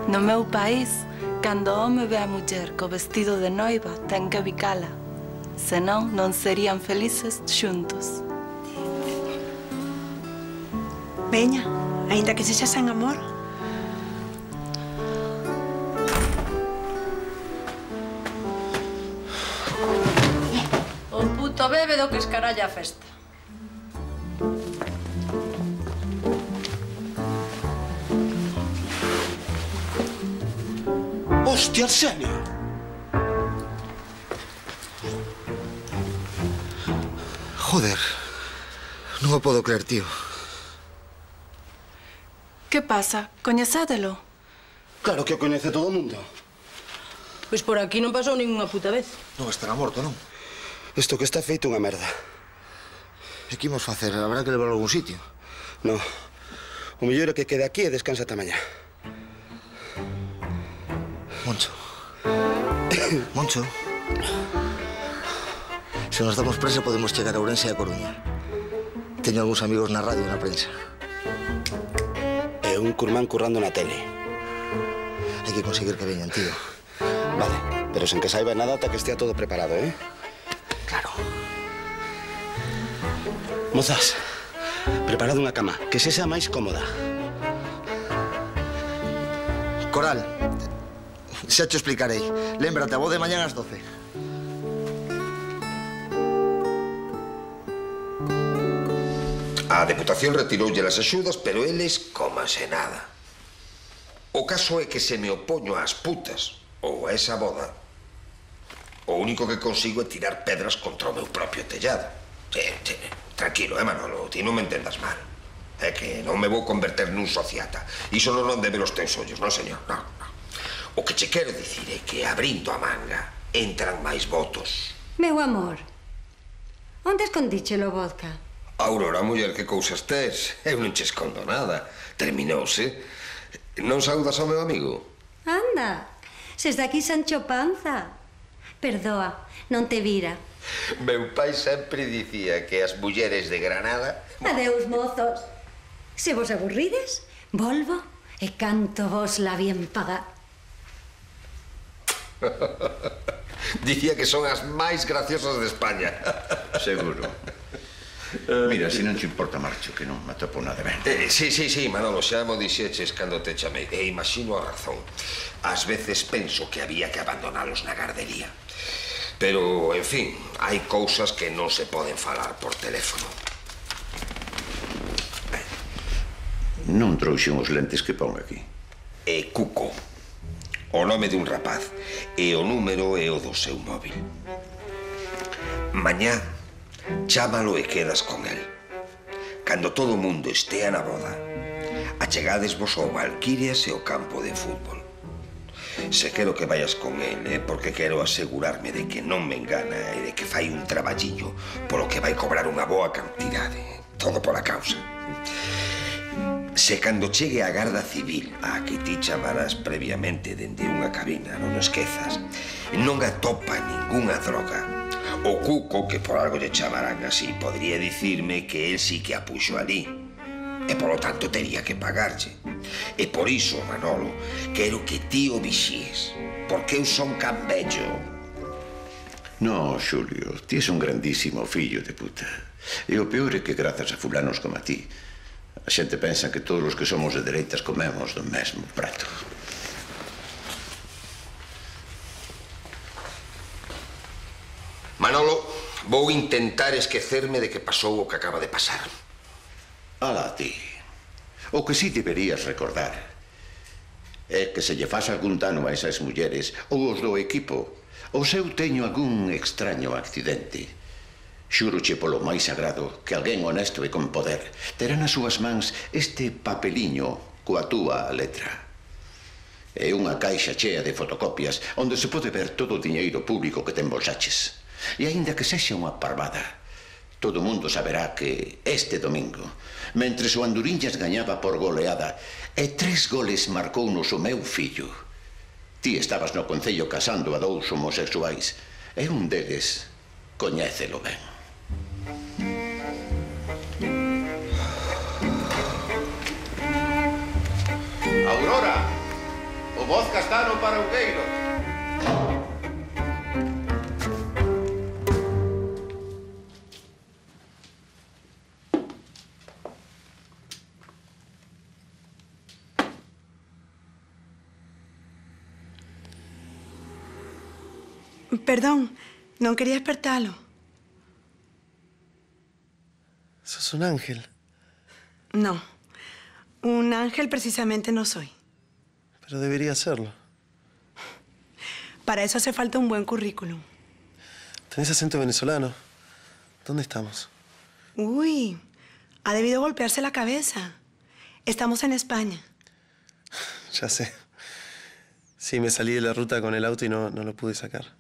No meu país, cando o home ve a muller co vestido de noiva, ten que bicala. Senón, non serían felices xuntos. Veña, aínda que sexa sen amor. O puto bebe do que escaralla a festa. Hostia, Arsenio. Joder, non o podo creer, tío. Que pasa? Coñecédelo? Claro que o coñece todo o mundo. Pois por aquí non pasou ninguna puta vez. Non estará morto, non? Isto que está feito unha merda. E que imos facer? Habrá que levarlo a algún sitio? No. O mellor é que quede aquí e descansa ata mañá. Moncho. Moncho. Se nos damos presa podemos chegar a Ourense e a Coruña. Teño algúns amigos na radio e na prensa. E un curmán currando na tele. Hai que conseguir que veñan, tío. Vale, pero sen que saiba nada ata que estea todo preparado, eh? Claro. Mozas, preparad unha cama, que se sea máis cómoda. Coral, xa te explicarei. Lémbrate, a voz de mañán ás 12. A Deputación retiroulle as axudas, pero eles coma se nada. O caso é que se me opoño ás putas ou a esa boda, o único que consigo é tirar pedras contra o meu propio tellado. Tranquilo, Manolo, ti non me entendas mal. É que non me vou converter nun sociata. Iso non debe os teus ollos, non, señor? Non. O que che quero dicir é que abrindo a manga entran máis votos. Meu amor, onde escondíchelo vodka? Aurora, muller, que cousas tes? Eu non che escondo nada. Terminouse. Non saudas ao meu amigo? Anda, se está aquí Sancho Panza. Perdoa, non te vira. Meu pai sempre dicía que as mulleres de Granada... Adeus, mozos. Se vos aburrides, volvo e canto vos la bien pagar. Dicía que son as máis graciosas de España. Seguro. Mira, se non te importa, marcho, que non me atopo nada ben. Sí, Manolo, xa mo dixeches cando te chamei. E imagino a razón. Ás veces penso que había que abandonalos na gardería. Pero, en fin, hai cousas que non se poden falar por teléfono. Non trouxen os lentes que pon aquí. É Cuco. O nome dun rapaz. E o número é o do seu móvil. Mañá, chámalo e quedas con el. Cando todo o mundo estea na boda, achegadesvos ao Valquirias e ao campo de fútbol. Se quero que vayas con el, porque quero asegurarme de que non me engana e de que fai un traballiño polo que vai cobrar unha boa cantidade. Todo pola causa. Se cando chegue a Garda Civil, a que ti chamarás previamente dende unha cabina, non o esquezas, non atopa ningunha droga, o Cuco, que por algo lle chamarán así, podría dicirme que él sí que a puxo ali. E, polo tanto, tería que pagarlle. E por iso, Manolo, quero que ti o vixíes, porque eu son can vello. No, Xulio, ti és un grandísimo fillo de puta. E o peor é que grazas a fulanos como a ti, a xente pensa que todos os que somos de dereitas comemos do mesmo prato. Manolo, vou intentar esquecerme de que pasou o que acaba de pasar. Alá ti. O que sí deberías recordar é que se lle faz algún dano a esas mulleres ou os do equipo, ou se eu teño algún extraño accidente, xúroche polo máis sagrado que alguén honesto e con poder terá nas súas mans este papeliño coa túa letra. É unha caixa chea de fotocopias onde se pode ver todo o diñeiro público que te embolsaches. E aínda que sexa unha parvada, todo o mundo saberá que este domingo, mentres o Anduriñas gañaba por goleada e 3 goles marcounos o meu fillo, ti estabas no concello casando a 2 homosexuais e un deles coñécelo ben. Aurora, o vodka está no parauqueiro. Perdón, non quería despertalo. Sos un ángel. No, un ángel precisamente no soy. Pero debería serlo. Para eso hace falta un buen currículum. Tenés acento venezolano. ¿Dónde estamos? Uy, ha debido golpearse la cabeza. Estamos en España. Ya sé. Sí, me salí de la ruta con el auto y no lo pude sacar.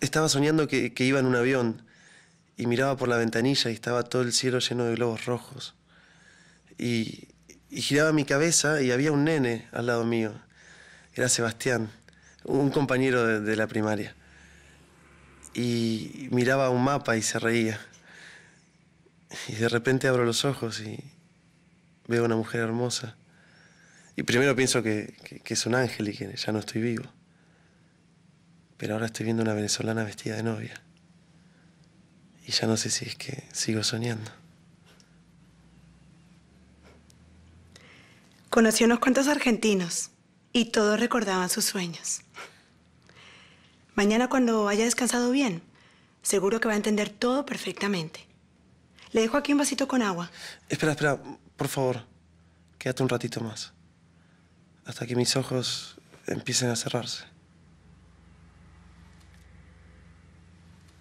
Estaba soñando que iba en un avión y miraba por la ventanilla y estaba todo el cielo lleno de globos rojos. Y giraba mi cabeza y había un nene al lado mío. Era Sebastián, un compañero de la primaria. Y miraba un mapa y se reía. Y de repente abro los ojos y veo a una mujer hermosa. Y primero pienso que es un ángel y que ya no estoy vivo. Pero ahora estoy viendo una venezolana vestida de novia. Y ya no sé si es que sigo soñando. Conocí unos cuantos argentinos y todos recordaban sus sueños. Mañana, cuando haya descansado bien, seguro que va a entender todo perfectamente. Le dejo aquí un vasito con agua. Espera, por favor. Quédate un ratito más. Hasta que mis ojos empiecen a cerrarse.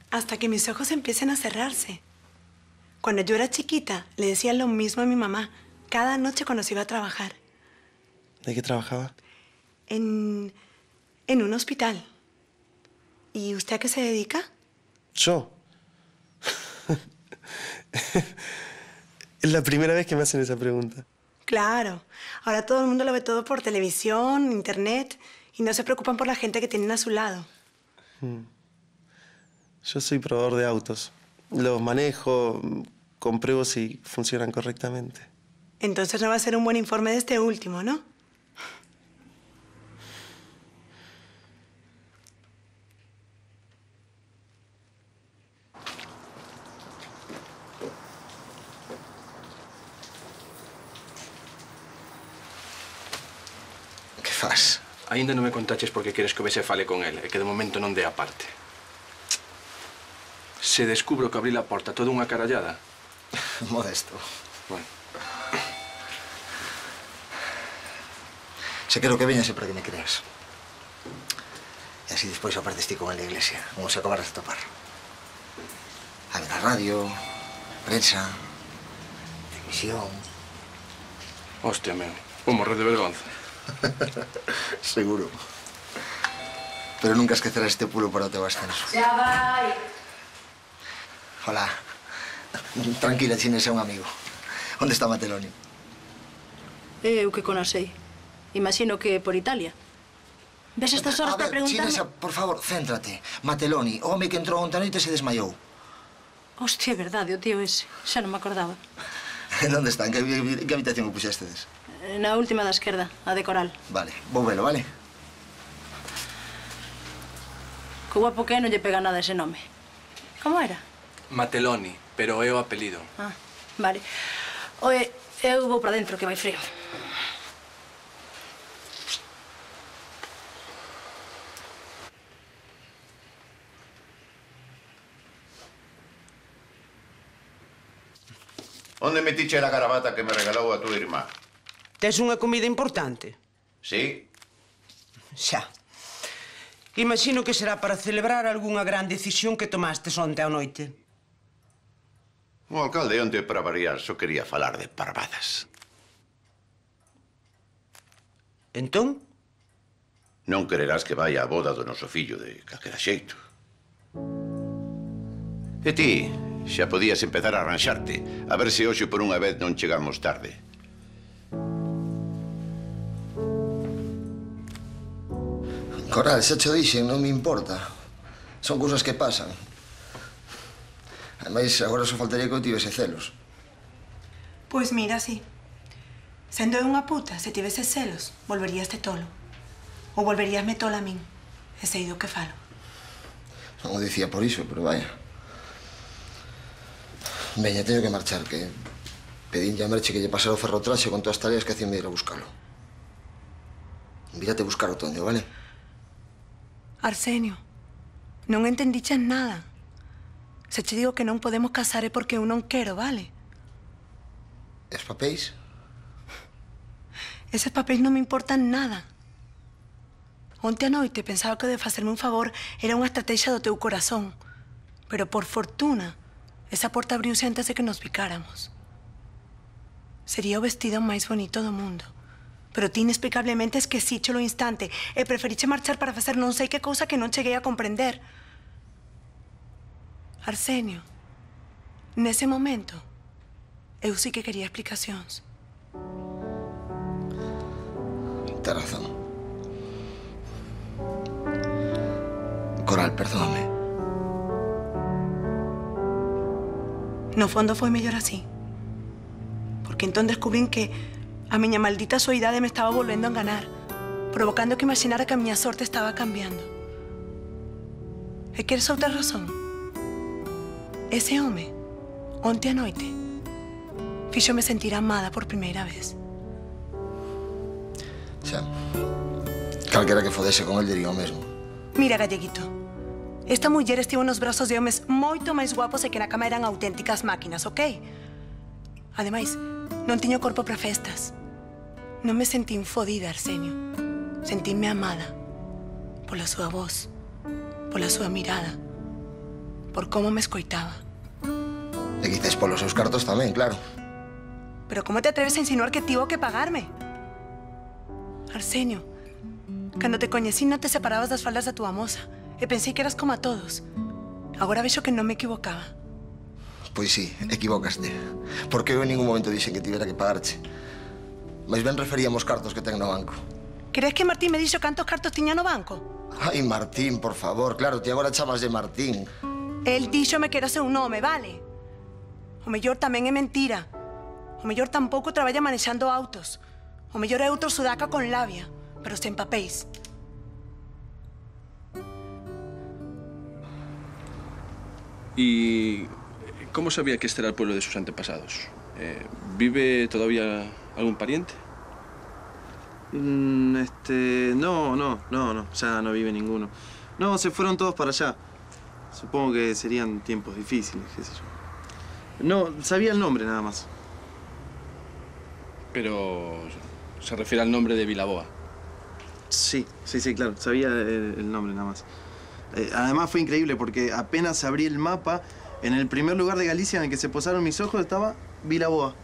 Hasta que mis ojos empiecen a cerrarse. Cuando yo era chiquita, le decía lo mismo a mi mamá cada noche cuando se iba a trabajar. ¿De qué trabajaba? En un hospital. ¿Y usted a qué se dedica? ¿Yo? Es la primera vez que me hacen esa pregunta. Claro. Ahora todo el mundo lo ve todo por televisión, internet, y no se preocupan por la gente que tienen a su lado. Yo soy probador de autos. Los manejo, compruebo si funcionan correctamente. Entonces no va a ser un buen informe de este último, ¿no? Que fas? Ainda non me contaches por que queres que o vexe fale con el e que de momento non dé a parte. Se descubro que abrí a porta toda unha carallada... Modesto. Bueno. Se quero que veñas para que me creas. E así despois apartes ti con el da iglesia, como se acabaras de topar. A ver a radio, prensa, televisión... Hostia, meu, vou morrer de vergonza. Seguro. Pero nunca esquecerás este pulo para o teu ascenso. Xa vai. Hola. Tranquila, Chinesa é un amigo. Onde está Mateloni? Eu que conasei. Imagino que por Italia. Ves estas horas para preguntarme... Chinesa, por favor, céntrate. Mateloni, o home que entrou onte a noite se desmaiou. Hostia, é verdade, o tío ese. Xa non me acordaba. Onde está? En que habitación o puxéstedes? Na última da esquerda, a de coral. Vale, vou velo, vale? Que guapo que é, non lle pega nada ese nome. Como era? Mateloni, pero é o apelido. Ah, vale. Oe, eu vou para dentro, que vai frío. Onde metiche a gravata que me regalou a tua irmá? Tes unha comida importante? Sí. Xa. Imagino que será para celebrar algunha gran decisión que tomastes onte á noite. O alcalde onte, para variar, só quería falar de parvadas. Entón? Non quererás que vaya á boda do noso fillo de calquera xeito. E ti, xa podías empezar a arranxarte, a ver se hoxe por unha vez non chegamos tarde. Coral, xa cho dixen, non me importa. Son cousas que pasan. Ademais, agora só faltaría que eu tivese celos. Pois mira, sí. Sendo eu unha puta, se tivese celos, volveríaste tolo. Ou volveríasme tola a min. E sei do que falo. Non o dicía por iso, pero vaya. Veña, teño que marchar, que pedín a Merche que lle pasara o ferrotraxe con todas as tareas que hacían de ir a buscalo. Vírate a buscar o Toño, vale? Arsenio, non entendiches nada. Se che digo que non podemos casar é porque eu non quero, vale? E os papéis? Eses papéis non me importan nada. Onte a noite pensaba que de facerme un favor era unha estrategia do teu corazón. Pero por fortuna, esa porta abriuse antes de que nos picáramos. Sería o vestido máis bonito do mundo. Pero ti inexplicablemente esquecíche lo instante e preferiche marchar para facer non sei que cousa que non cheguei a comprender. Arsenio, nese momento, eu sí que quería explicacións. Tens razón. Coral, perdóname. No fondo foi mellor así. Porque entón descubrín que a miña maldita soidade me estaba volvendo a enganar, provocando que imaginara que a miña sorte estaba cambiando. E queres outra razón? Ese home, onte a noite, fíxome sentir amada por primeira vez. Xa, calquera que fodese con el diría o mesmo. Mira, galleguito, esta muller estivo nos brazos de homes moito máis guapos e que na cama eran auténticas máquinas, ok? Ademais, non tiño corpo para festas. Non me sentín fodida, Arsenio. Sentínme amada pola súa voz, pola súa mirada, por como me escoitaba. E quizás polos seus cartos tamén, claro. Pero como te atreves a insinuar que tivo que pagarme? Arsenio, cando te coñecí non te separabas das faldas da túa moza e pensei que eras como a todos. Agora vexo que non me equivocaba. Pois sí, equivocaste. Porque eu en ningún momento dixen que tivera que pagarche. Mais ben referíamos cartos que ten no banco. Crees que Martín me dixo cantos cartos tiña no banco? Ai, Martín, por favor, claro, ti agora chamas de Martín. El díxome que era seu nome, vale? O mellor tamén é mentira. O mellor tampouco traballa manexando autos. O mellor é outro sudaca con labia, pero sen papéis. ¿Y cómo sabía que este era el pueblo de sus antepasados? ¿Vive todavía algún pariente? No, ya no vive ninguno. No, se fueron todos para allá. Supongo que serían tiempos difíciles, qué sé yo. No, sabía el nombre nada más. Pero se refiere al nombre de Vilaboa. Sí, claro, sabía el nombre nada más. Además fue increíble porque apenas abrí el mapa, en el primer lugar de Galicia en el que se posaron mis ojos estaba Vilaboa.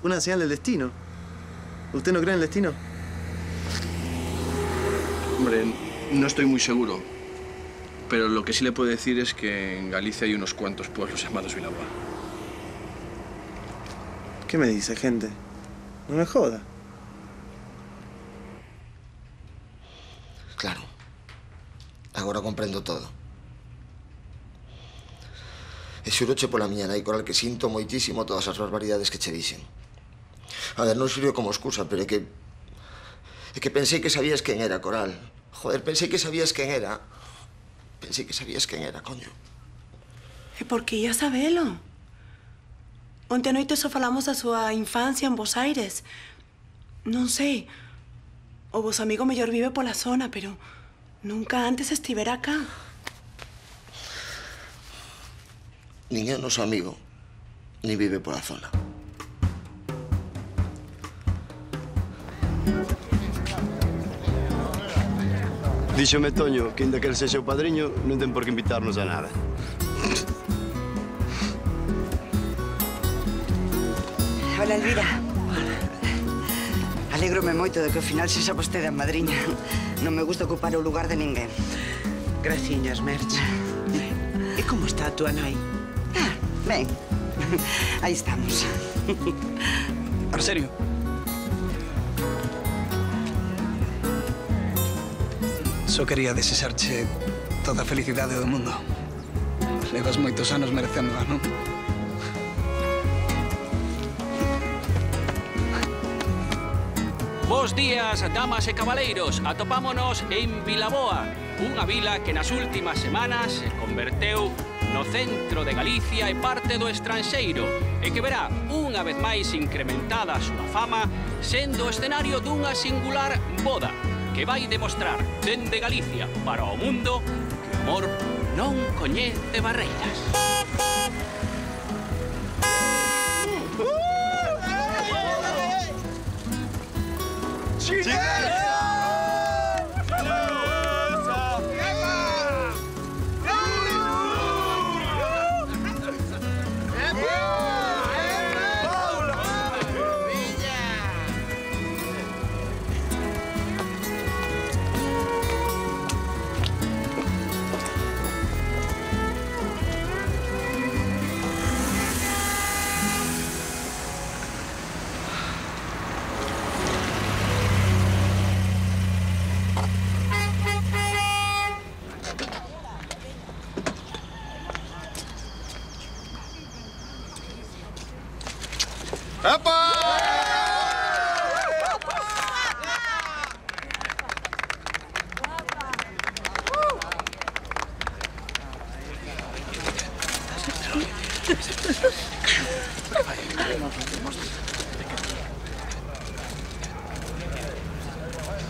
Una señal del destino. ¿Usted no cree en el destino? Hombre, no estoy muy seguro. Pero lo que sí le puedo decir es que en Galicia hay unos cuantos pueblos llamados Vilaboa. ¿Qué me dice, gente? No me joda. Claro. Agora comprendo todo. E xuroche pola miña nai, Coral, que sinto moitísimo todas as barbaridades que che dixen. A ver, non sirve como excusa, pero é que pensei que sabías quen era, Coral. Joder, pensei que sabías quen era. Pensei que sabías quen era, coño. E por que ia sabelo? Onte a noite só falamos da súa infancia en Bos Aires. Non sei. O vos amigo mellor vive pola zona, pero nunca antes estivera acá. Nin é o noso amigo, ni vive pola zona. Díxome Toño que, inda que el sexa o padriño, non ten por que invitarnos a nada. Hola, Elvira. Alégrome moito de que ao final sexa vostede a madriña. Non me gusta ocupar o lugar de ninguén. Graciñas, Merche. E como está a túa nai? Ben, aí estamos. Arsenio. Só quería desexarche toda a felicidade do mundo. Levas moitos anos merecéndola, non? Bos días, damas e cabaleiros. Atopámonos en Vilaboa, unha vila que nas últimas semanas se converteu no centro de Galicia e parte do estranxeiro e que verá unha vez máis incrementada a súa fama sendo o escenario dunha singular boda que vai demostrar dende Galicia para o mundo que o amor non coñece barreiras.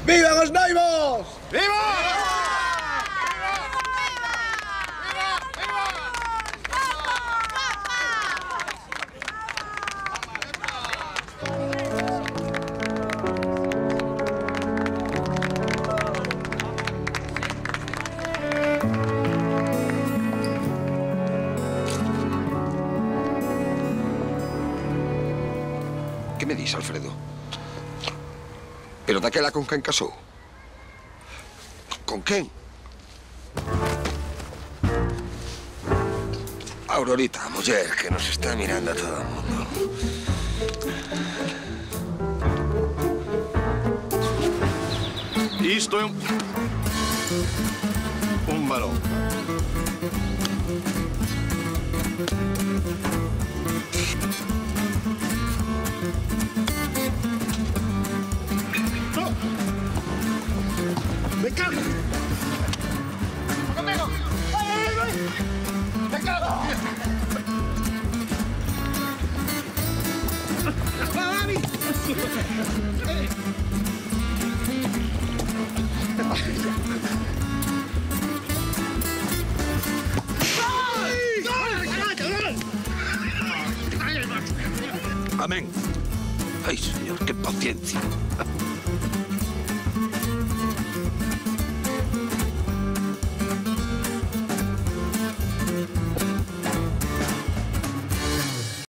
¡Vivan os noivos! ¡Viva! Que me dis, Alfredo? Pero daquela con quen casou? Con quen? Aurorita, a muller que nos está mirando a todo o mundo. Isto é un balón. ¡Me cago! ¡Conmigo! ¡Ay! ¡Me cago! ¡Va, Dani! Amén. Ay, señor, qué paciencia.